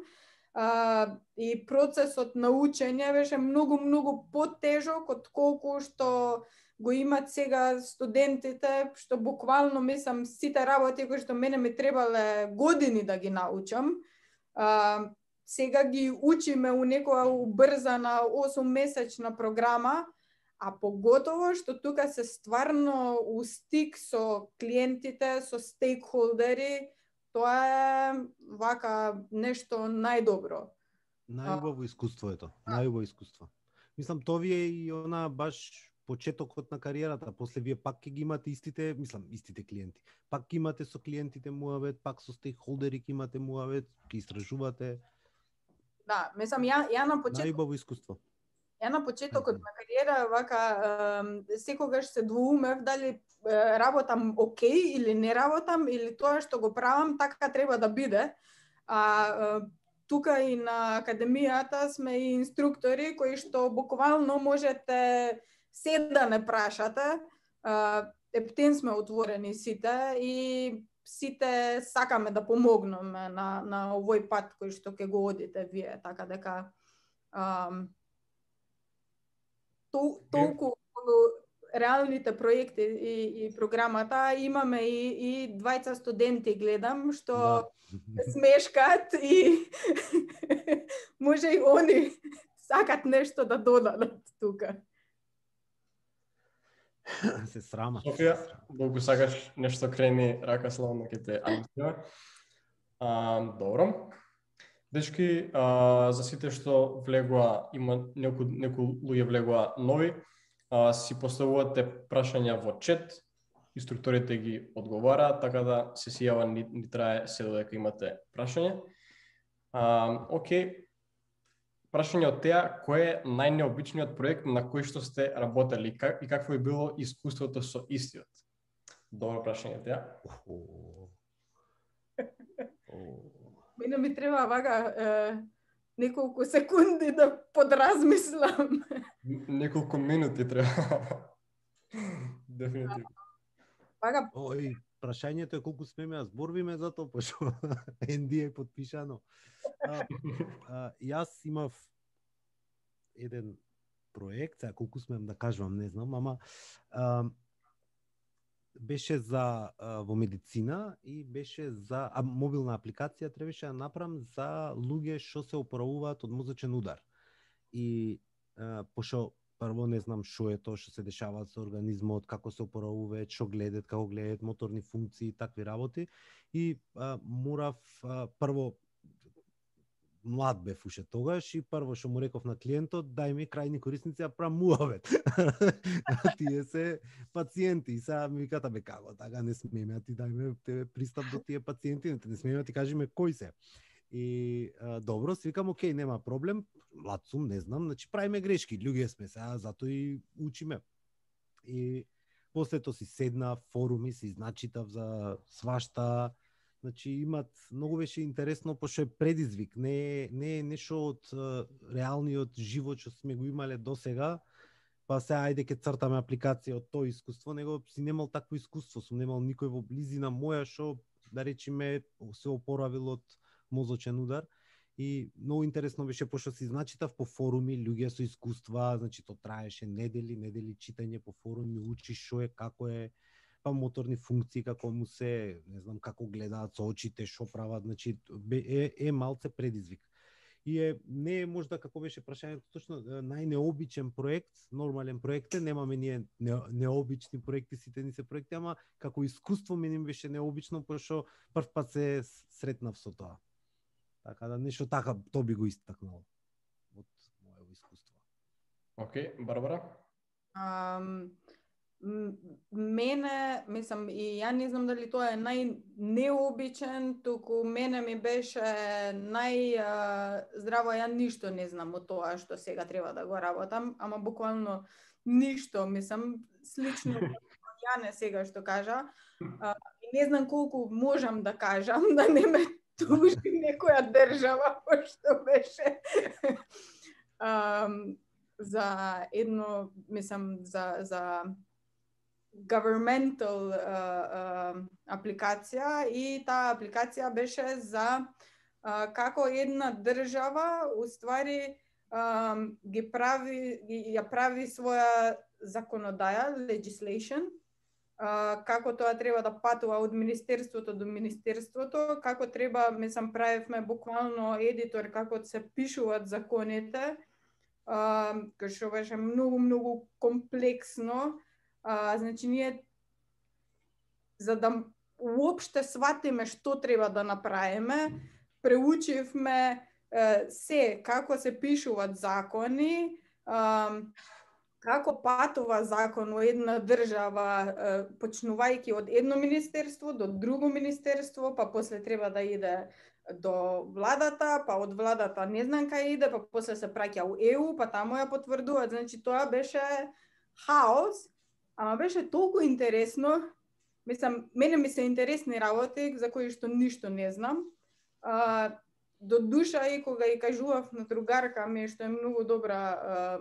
Uh, и процесот на учење беше многу, многу потежок од колку што го имат сега студентите, што буквално мислам сите работи кои што мене ми требале години да ги научам. Uh, сега ги учиме у некоја убрзана осуммесечна програма, а поготово што тука се стварно у стик со клиентите, со стейкхолдери, тоа е вака нешто најдобро. Најубаво искуство е тоа, најубаво искуство. Мислам, тоа ви е и она баш почетокот на кариерата, после вие пак ќе ги имате истите, мислам, истите клиенти. Пак ќе имате со клиентите муавет, пак со стейкхолдери ќе имате муавет, ќе истражувате. Да, мислам, ја, ја на почеток... Најубаво искуство. Ја на почетокот на кариера вака секогаш се двоумев дали работам окей или не работам или тоа што го правам така треба да биде. А тука и на академијата сме и инструктори кои што буквално можете се да не прашате. Ептен сме отворени сите и сите сакаме да помогнеме на на овој пат кој што ќе го одите вие, така дека ам, тол, толку реалните проекти и, и програмата имаме и, и двајца студенти гледам што да. смешкат и може и они сакат нешто да додадат тука. Се срама. Софија, долго сакаш нешто крени рака славно ке те анонсира. Добро. Дечки, а, за сите што влегува, има некои некои луѓе влегува нови, а, си поставувате прашања во чет, инструкторите ги одговараат, така да се си јава ни, ни трае се додека имате прашање. А, окей. Прашање од теа, кој е најнеобичниот проект на кој што сте работели и какво е било искуството со истиот? Добро прашање теа. Мене ми треба вака е, неколку секунди да подразмислам. Неколку минути треба. Дефинитивно. Вака... Ој, прашањето е колку смеме да зборвиме за тоа, пошто Ен Ди е подпишано. А, а, јас имав еден проект, сега колку смеам да кажувам, не знам, ама а, беше за а, во медицина и беше за а, мобилна апликација требаше да направам за луѓе што се опоравуваат од мозочен удар. И а, пошто прво не знам што е тоа што се дешава со организмот, како се опоравуваат, што гледат, како гледат моторни функции и такви работи. И а, морав а, прво млад бев уште тогаш и прво што му реков на клиентот, дај ми крајни корисници да правам муавет. Тие се пациенти и сега ми виката бе како, така не смееме, а ти дај тебе пристап до тие пациенти, не смееме ти кажеме кои се. И а, добро, си викам, окей, нема проблем, млад сум, не знам, значи правиме грешки, луѓе сме сега, зато и учиме. И после тоа си седна, форуми, си значитав за свашта, значи имат, многу беше интересно, пошто е предизвик, не, не е нешто од uh, реалниот живот што сме го имале до сега, па се ајде ке цртаме апликација од тоа искуство, него си немал такво искуство, сум немал никој во близина моја што, да речеме, се опоравил од мозочен удар. И многу интересно беше, пошто си значитав по форуми, луѓе со искуства, значи то траеше недели, недели читање по форуми, учиш што е, како е, па моторни функции, како му се, не знам, како гледаат со очите, што прават, значи е, е малце предизвик. И е, не е можда, како беше прашањето, точно најнеобичен проект, нормален проект е, немаме ние не, необични проекти, сите ни се проекти, ама како искуство мене беше необично, пошто прв пат се сретнав со тоа. Така да нешто така, тоа би го истакнал од моето искуство. Окей, okay, Барбара? Um, мене, мислам, и ја не знам дали тоа е најнеобичен, туку мене ми беше најздраво, ја ништо не знам од тоа што сега треба да го работам, ама буквално ништо, мислам, слично ја не сега што кажа. Uh, не знам колку можам да кажам, да не ме тужи некоја држава, пошто беше um, за едно, мислам, за, за governmental uh, uh, апликација и таа апликација беше за uh, како една држава уствари um, ги прави, ги, ја прави своја законодаја, legislation, Uh, како тоа треба да патува од министерството до министерството, како треба, мислам, правевме буквално едитор како се пишуваат законите, uh, кој што беше многу, многу комплексно. Uh, значи, ние, за да уопште сватиме што треба да направиме, преучивме uh, се, како се пишуваат закони, uh, како патува закон во една држава, почнувајќи од едно министерство до друго министерство, па после треба да иде до владата, па од владата не знам кај иде, па после се праќа у Е У, па таму ја потврдуваат. Значи тоа беше хаос, ама беше толку интересно. Мислам, мене ми се интересни работи за кои што ништо не знам. А, до душа и кога и кажував на другарка ми, што е многу добра а,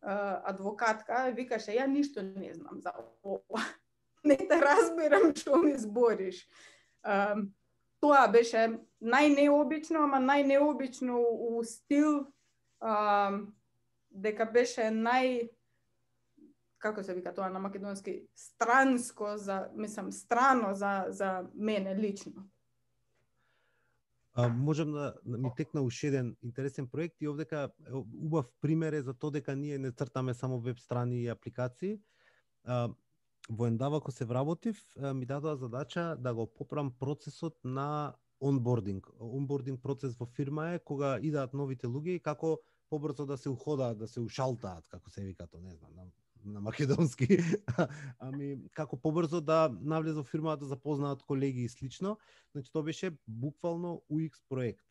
а, адвокатка, викаше, ја ништо не знам за ова. Не те разбирам што ми збориш. А, тоа беше најнеобично, ама најнеобично у стил, а, дека беше нај, како се вика тоа на македонски, странско за, мислам, страно за за мене лично. А, можам да, да ми текна уште еден интересен проект и овдека убав пример е за тоа дека ние не цртаме само веб страни и апликации. А, во Endava кога се вработив, ми дадоа задача да го поправам процесот на онбординг. Онбординг процес во фирма е кога идат новите луѓе и како побрзо да се уходаат, да се ушалтаат, како се вика тоа, не знам, на, на македонски. Ами како побрзо да навлезат во фирмата, да запознаат колеги и слично. Значи тоа беше буквално У Екс проект.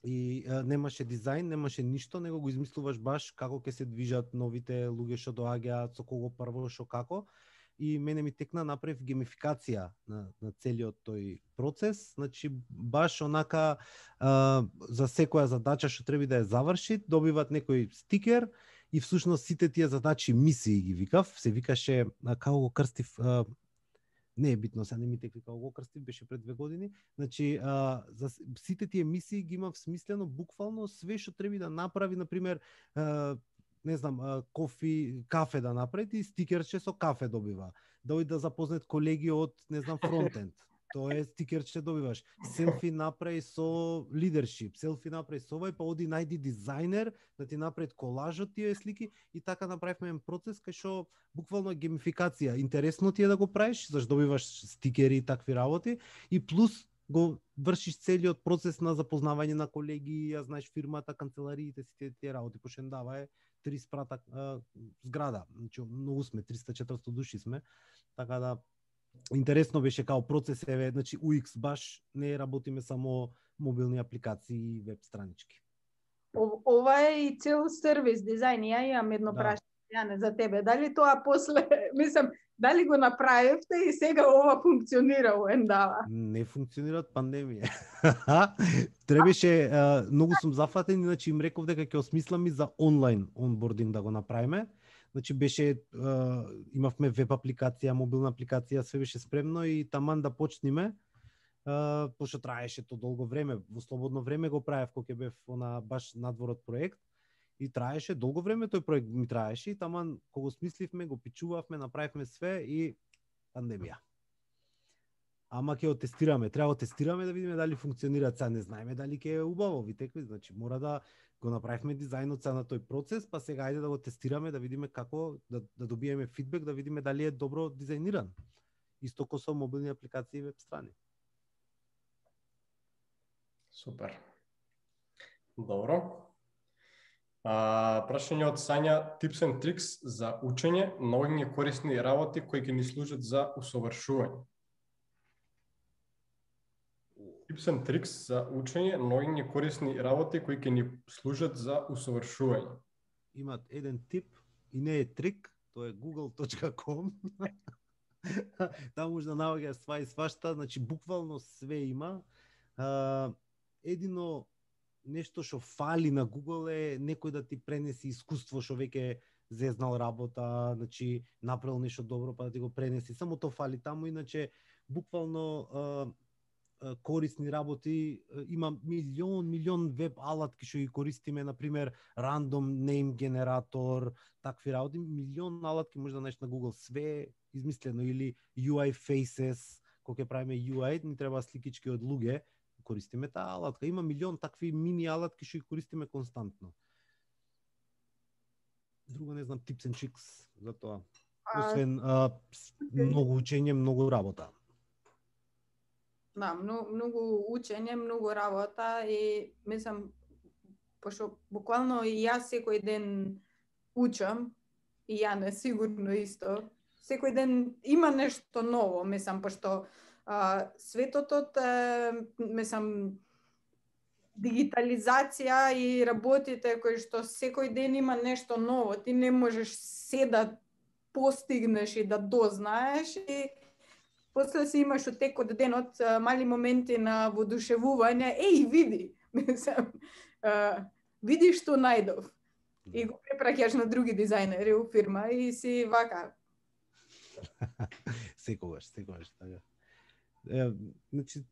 И а, немаше дизајн, немаше ништо, него го измислуваш баш како ќе се движат новите луѓе што доаѓаат, со кого прво, што како. И мене ми текна, направив геймификација на, на целиот тој процес. Значи баш онака а, за секоја задача што треба да ја заврши, добиват некој стикер и всушност сите тие задачи мисии ги викав, се викаше а, како го крстив, а, не е битно, сега не ми текли како го крстив, беше пред две години. Значи а, за сите тие мисии ги имав смислено буквално све што треба да направи, на пример, а, не знам, кофи, кафе да направи и стикерче со кафе добива. Да оди да запознат колеги од, не знам, фронтенд. Тоа е стикерче добиваш. Селфи направи со лидершип, селфи направи со ова, па оди најди дизајнер да ти направи колаж од тие слики и така направивме еден процес кај што буквално геймификација. Интересно ти е да го правиш, зашто добиваш стикери и такви работи и плюс го вршиш целиот процес на запознавање на колеги, ја знаеш фирмата, канцелариите, сите тие работи, пошто Endava е три спрата а, зграда. Значи многу сме, триста четиристо души сме. Така да интересно беше као процес, еве, значи У Екс баш не работиме само мобилни апликации и веб странички. Ова е и цел сервис дизајн. Ја имам едно да. прашање за тебе. Дали тоа после, мислам, дали го направивте и сега ова функционира во Endava? Не функционира од пандемија. Требаше, а, многу сум зафатен, иначе им реков дека ќе осмислам и за онлайн онбординг да го направиме. Значи беше, а, имавме веб апликација, мобилна апликација, све беше спремно и таман да почниме, а, пошто траеше то долго време, во слободно време го правев кога ќе бев на баш надворот проект и траеше долго време, тој проект ми траеше и таман кога го смисливме, го пичувавме, направивме све и пандемија. Ама ќе го тестираме, треба го тестираме да видиме дали функционира, сега не знаеме дали ќе е убаво, ви текли, значи мора да го направивме дизајнот на тој процес, па сега ајде да го тестираме, да видиме како, да, да добиеме фидбек, да видиме дали е добро дизајниран. Исто ко со мобилни апликации и веб страни. Супер. Добро. А, прашање од Сања, tips and tricks за учење, многи корисни работи кои ќе ни служат за усовршување. Tips and tricks за учење, многи корисни работи кои ќе ни служат за усовршување. Имат еден тип и не е трик, тоа е google точка com. Таму може да наоѓаш сва и свашта, значи буквално све има. А, едино нешто што фали на Google е некој да ти пренеси искуство што веќе зезнал работа, значи направил нешто добро па да ти го пренеси. Само тоа фали таму, иначе буквално а, корисни работи, има милион, милион веб алатки што ги користиме, на пример random name генератор, такви работи, милион алатки може да најдеш на Google, све измислено, или ю ај faces, кога ќе правиме ю ај, ни треба сликички од луѓе, користиме таа алатка. Има милион такви мини алатки што ги користиме константно. Друго не знам, tips and tricks за тоа. Освен а, многу учење, многу работа. Да, многу, многу учење, многу работа и мислам, пошто буквално и јас секој ден учам, и ја не сигурно исто. Секој ден има нешто ново, мислам, пошто а, светотот е, мислам, дигитализација и работите кои што секој ден има нешто ново. Ти не можеш се да постигнеш и да дознаеш и после си имаш од текот денот мали моменти на воодушевување. Еј, види, мислам, а, види што најдов. И го препраќаш на други дизајнери у фирма и си вака. Секогаш, секогаш, така. Е, значи,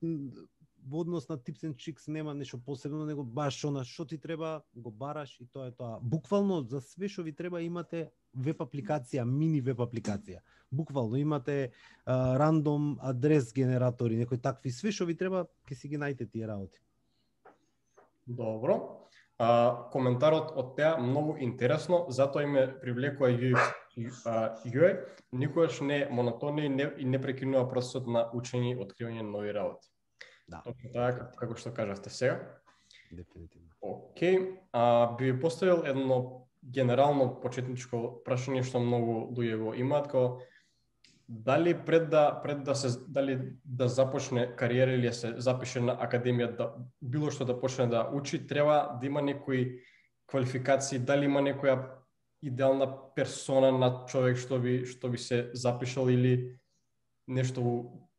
во однос на Tips and Tricks нема нешто посебно, него баш она што ти треба, го бараш и тоа е тоа. Буквално за све што ви треба имате веб апликација, мини веб апликација. Буквално имате а, рандом адрес генератори, некои такви, све што ви треба, ќе си ги најдете тие работи. Добро. А, коментарот од теа многу интересно, затоа и ме привлекува ю екс ю ај, никогаш не монотонно и не, и не прекинува процесот на учење и откривање на нови работи. Да. Точно така, како што кажавте сега. Дефинитивно. Океј, а, би ви поставил едно генерално почетничко прашање што многу луѓе го имаат, како дали пред да пред да се дали да започне кариера или да се запише на академија, да било што да почне да учи, треба да има некои квалификации, дали има некоја идеална персона на човек што би што би се запишал или нешто во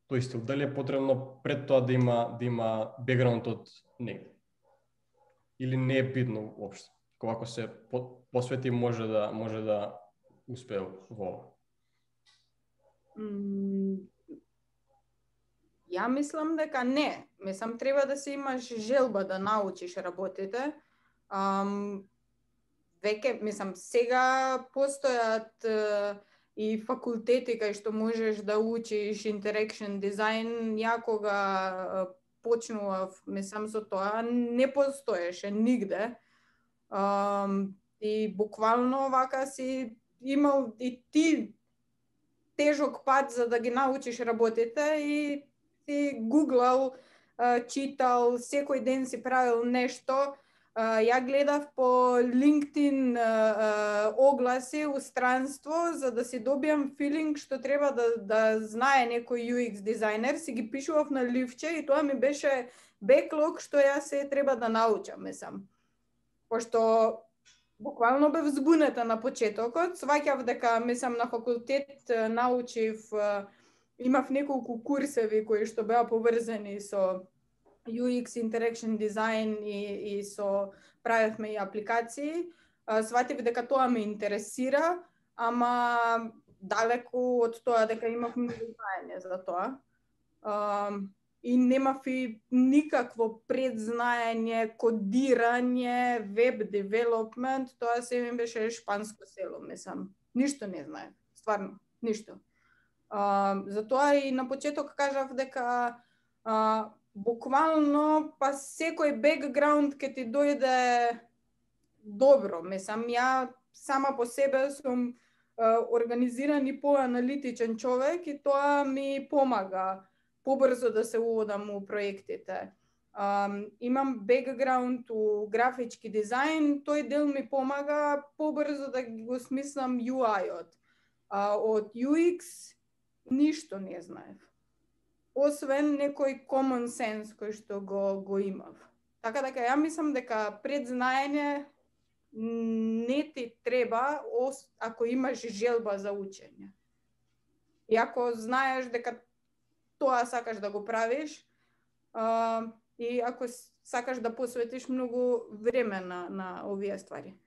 тој стил. Дали е потребно пред тоа да има да има бекграунд од негде? Или не е битно уопште? Кога се посвети може да може да успее во ова. Ја мислам дека не. Мислам, треба да се имаш желба да научиш работите. Ам, веќе, мислам, сега постојат е, и факултети кај што можеш да учиш interaction дизајн. Ја кога е, почнував, мислам, со тоа, не постоеше нигде. Ам, и буквално вака си имал и ти тежок пат за да ги научиш работите и си гуглал, читал, секој ден си правил нешто. Ја гледав по LinkedIn огласи у странство за да си добиам филинг што треба да да знае некој ю екс дизајнер, си ги пишував на ливче и тоа ми беше беклог што ја се треба да научам, мислам. Пошто буквално бев збунета на почетокот, сваќав дека, мислам, на факултет научив, имав неколку курсеви кои што беа поврзани со ю екс Interaction Design и, и со правевме и апликации. Сватив дека тоа ме интересира, ама далеку од тоа дека имав многу знаење за тоа. И немав и никакво предзнаење, кодирање, веб девелопмент, тоа се ми беше шпанско село, мислам. Ништо не знае, стварно, ништо. Uh, затоа и на почеток кажав дека uh, буквално па секој бекграунд ке ти дојде добро. Мислам, ја сама по себе сум uh, организиран и поаналитичен човек и тоа ми помага побрзо да се уводам у проектите. Um, имам бекграунд у графички дизајн, тој дел ми помага побрзо да го смислам ю ај-от. Uh, од ю екс ништо не знаев. Освен некој common sense кој што го, го имав. Така дека ја мислам дека предзнаење не ти треба ако имаш желба за учење. И ако знаеш дека тоа сакаш да го правиш, а, и ако сакаш да посветиш многу време на, на овие ствари.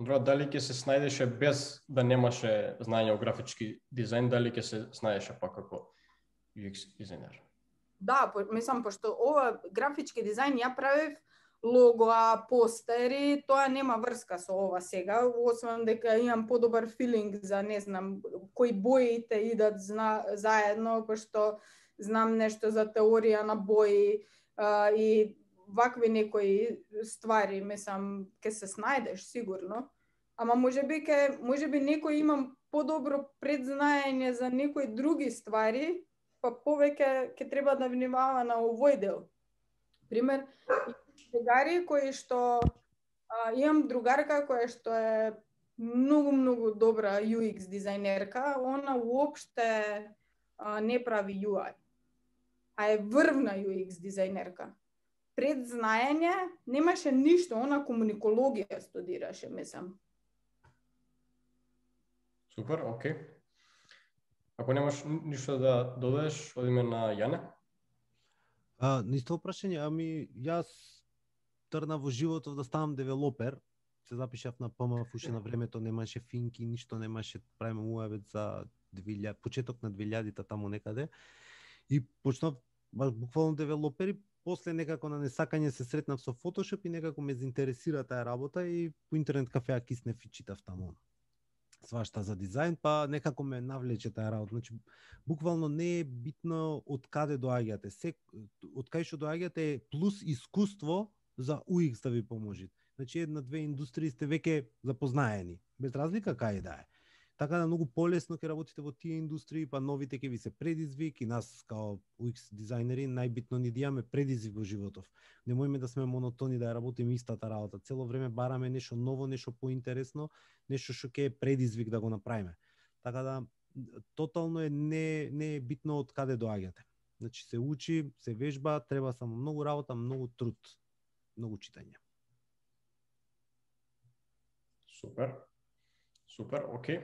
Добро, дали ќе се снајдеше без да немаше знаење о графички дизајн, дали ќе се снајдеше пак како ю екс дизајнер? Да, по, мислам, пошто ова графички дизајн ја правев логоа, постери, тоа нема врска со ова сега, освен дека имам подобар филинг за, не знам, кои боите идат зна, заедно, пошто знам нешто за теорија на бои а, и вакви некои ствари, мислам, ке се снајдеш сигурно, ама можеби ке можеби некој имам подобро предзнаење за некои други ствари, па повеќе ќе треба да внимава на овој дел. Пример, другари кои што а, имам другарка која што е многу, многу добра ю екс дизајнерка, она уопште а, не прави ю ај, а е врвна ю екс дизајнерка. Пред знаење немаше ништо, она комуникологија студираше, мислам. Супер, окей. Ако немаш ништо да додадеш, одиме на Јане. А, на исто прашање, ами јас трна во животот да ставам девелопер. Се запишав на П М Ф, уште на времето немаше финки, ништо немаше, правиме уеб за две илјади, почеток на две илјадите таму некаде. И почнав баш буквално девелопер и после некако на несакање се сретнав со Photoshop и некако ме заинтересира таа работа и по интернет кафеа киснев и читав таму свашта за дизајн, па некако ме навлече таа работа. Значи, буквално не е битно од каде доаѓате. Се, од кај што доаѓате е плюс искуство за ю екс да ви поможи. Значи, една-две индустрии сте веќе запознаени, без разлика кај да е. Така да многу полесно ќе работите во тие индустрии, па новите ќе ви се предизвик и нас као ю екс дизајнери најбитно ни да имаме предизвик во животов. Немојме да сме монотони да работиме истата работа. Цело време бараме нешто ново, нешто поинтересно, нешто што ќе е предизвик да го направиме. Така да тотално е не не е битно од каде доаѓате. Значи се учи, се вежба, треба само многу работа, многу труд, многу читање. Супер. Супер, окей.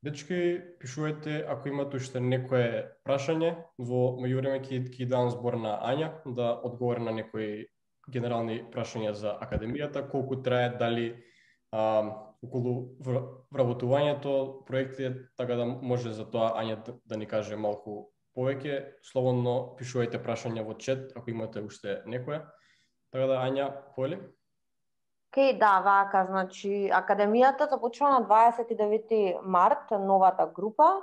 Дечки, пишувајте ако имате уште некое прашање, во меѓувреме ќе ќе дам збор на Ања да одговори на некои генерални прашања за академијата, колку трае, дали а, околу вработувањето, проектите, така да може за тоа Ања да, да ни каже малку повеќе. Слободно пишувајте прашања во чет ако имате уште некое. Така да Ања, поели? Океј, okay, да, вака, значи, академијата започва на дваесет и девети март, новата група.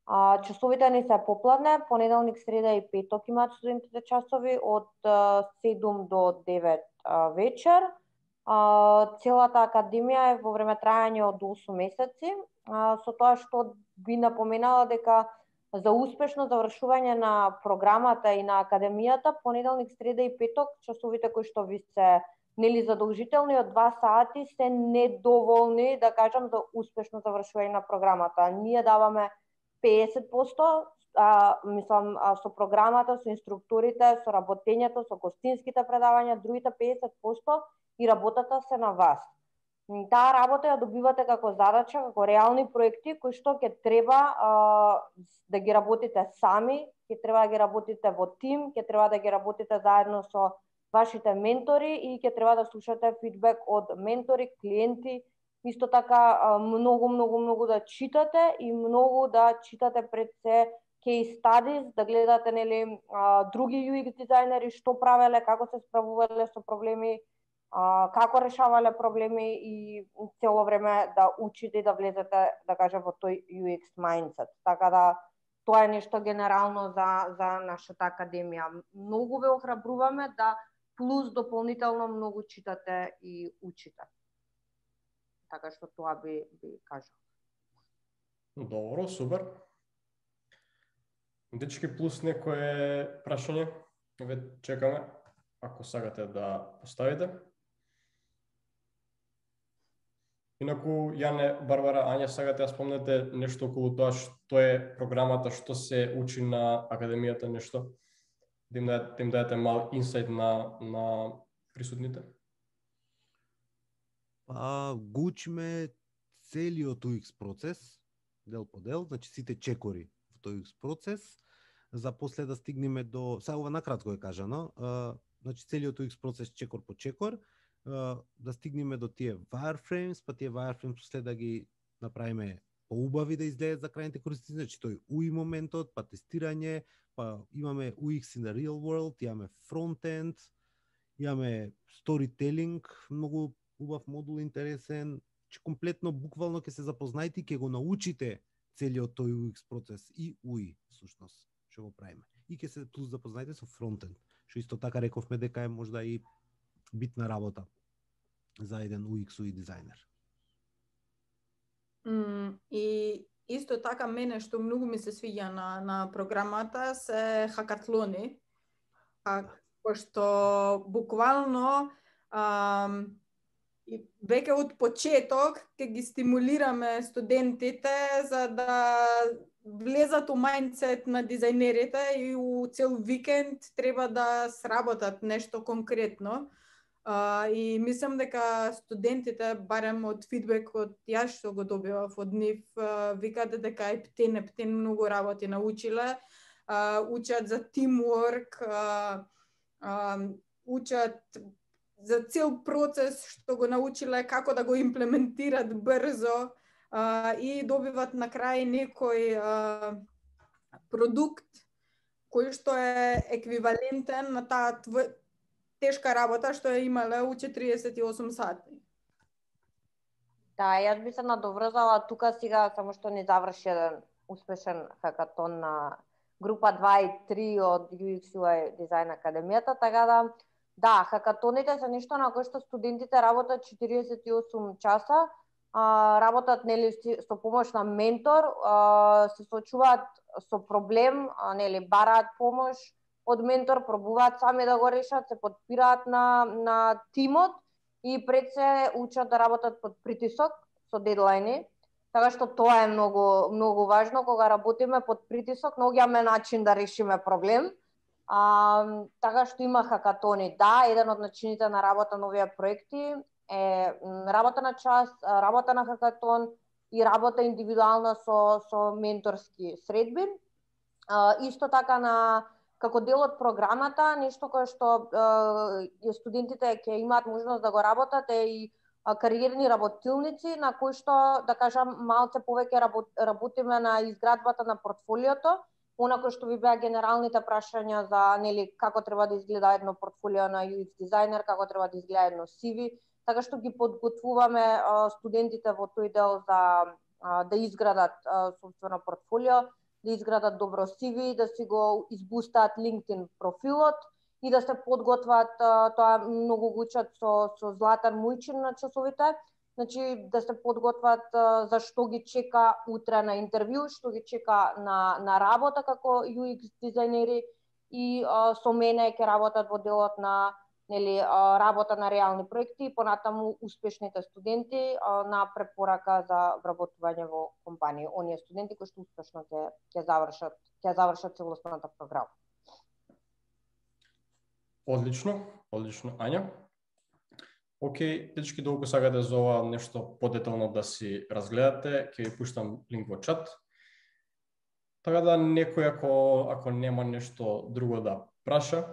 А, часовите ни се попладне, понеделник, среда и петок имаат студентите часови од седум до девет а, вечер. А, целата академија е во време трајање од осум месеци, а, со тоа што би напоменала дека за успешно завршување на програмата и на академијата, понеделник, среда и петок часовите кои што ви се нели задолжителни од два сати се недоволни, да кажам, за успешно завршување на програмата. Ние даваме педесет проценти, а, мислам, а, со програмата, со инструкторите, со работењето, со гостинските предавања, другите педесет проценти и работата се на вас. Таа работа ја добивате како задача, како реални проекти кои што ќе треба а, да ги работите сами, ќе треба да ги работите во тим, ќе треба да ги работите заедно со вашите ментори и ќе треба да слушате фидбек од ментори, клиенти, исто така многу, многу, многу да читате и многу да читате пред се case studies, да гледате нели други ю екс дизајнери што правеле, како се справувале со проблеми, како решавале проблеми и цело време да учите и да влезете, да кажем, во тој ю екс mindset. Така да тоа е нешто генерално за за нашата академија. Многу ве охрабруваме да плюс дополнително многу читате и учите. Така што тоа би, би кажал. Добро, супер. Дечки, плюс некое прашање, ве чекаме, ако сакате да поставите. Инаку, Јане, Барбара, Ања, сакате да спомнете нешто околу тоа што е програмата, што се учи на академијата, нешто? Да им дадете, да им дадете мал инсайт на, на присутните? Па, го учиме целиот ю екс процес, дел по дел, значи сите чекори во тој ю екс процес, за после да стигнеме до, сега ова накратко е кажано, а, значи целиот ю екс процес чекор по чекор, а, да стигнеме до тие wireframes, па тие wireframes после да ги направиме поубави да изгледат за крајните корисници, значи тој ю и моментот, па тестирање, па имаме ю екс in the real world, имаме frontend, имаме storytelling, многу убав модул, интересен, че комплетно, буквално ќе се запознаете и ќе го научите целиот тој ю екс процес и ю и, всушност, што го правиме. И ќе се плюс запознаете со фронтенд, што исто така рековме дека е можда и битна работа за еден ю екс ю и дизајнер. Mm, и исто така мене што многу ми се свиѓа на, на програмата се хакатлони, а, пошто буквално ам, И веќе од почеток ќе ги стимулираме студентите за да влезат у мајндсет на дизајнерите и у цел викенд треба да сработат нешто конкретно. Uh, и мислам дека студентите, барем од фидбекот јас што го добивав од нив, uh, викаат дека ептен, ептен многу работи научиле, uh, учат за тимворк, uh, uh, учат за цел процес што го научиле, како да го имплементират брзо uh, и добиват на крај некој uh, продукт кој што е еквивалентен на таа тв... тешка работа што е имале у четириесет и осум сати. Да, јас би се надоврзала тука сега, само што не заврши еден успешен хакатон на група два и три од ю екс ю ај Design Академијата, така да, да, хакатоните се нешто на кој што студентите работат четириесет и осум часа, а, работат нели со помош на ментор, а, се соочуваат со проблем, а, нели бараат помош од ментор, пробуваат сами да го решат, се подпираат на, на тимот и пред се учат да работат под притисок со дедлајни. Така што тоа е многу многу важно кога работиме под притисок, наоѓаме начин да решиме проблем. А, така што има хакатони. Да, еден од начините на работа на овие проекти е работа на час, работа на хакатон и работа индивидуална со со менторски средби. А, исто така на како дел од програмата, нешто кое што е, студентите ќе имаат можност да го работат е и кариерни работилници, на кои што, да кажам, малце повеќе работ, работиме на изградбата на портфолиото, онако што ви беа генералните прашања за нели како треба да изгледа едно портфолио на ю екс дизајнер, како треба да изгледа едно си ви, така што ги подготвуваме а, студентите во тој дел за а, да изградат а, собствено портфолио, да изградат добро си ви, да си го избустаат LinkedIn профилот и да се подготват, тоа многу го учат со, со Златан Мујчин на часовите, значи да се подготват за што ги чека утре на интервју, што ги чека на, на работа како ю екс дизајнери и а, со мене ќе работат во делот на нели, а, работа на реални проекти и понатаму успешните студенти а, на препорака за вработување во компанија. Оние студенти кои што успешно ќе ќе завршат, ќе завршат целосната програма. Одлично, одлично, Ања. Океј, дечки, долго сакате за ова нешто подетално да си разгледате, ќе ви пуштам линк во чат. Така да некој ако ако нема нешто друго да праша,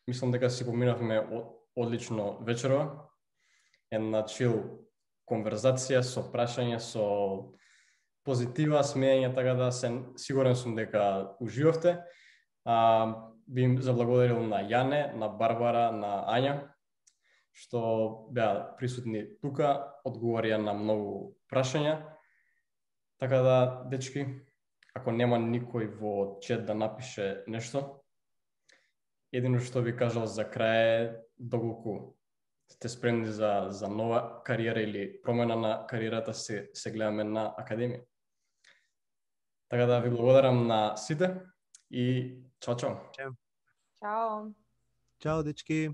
мислам дека си поминавме одлично вечерова. Една чил конверзација со прашања, со позитива, смеење, така да се сигурен сум дека уживавте. А, би им заблагодарил на Јане, на Барбара, на Ања, што беа присутни тука, одговорија на многу прашања. Така да, дечки, ако нема никој во чат да напише нешто, едино што би кажал за крај е доколку сте спремни за, за нова кариера или промена на кариерата, се, се гледаме на Академија. Така да ви благодарам на сите и чао, чао. Чао. Чао, дечки.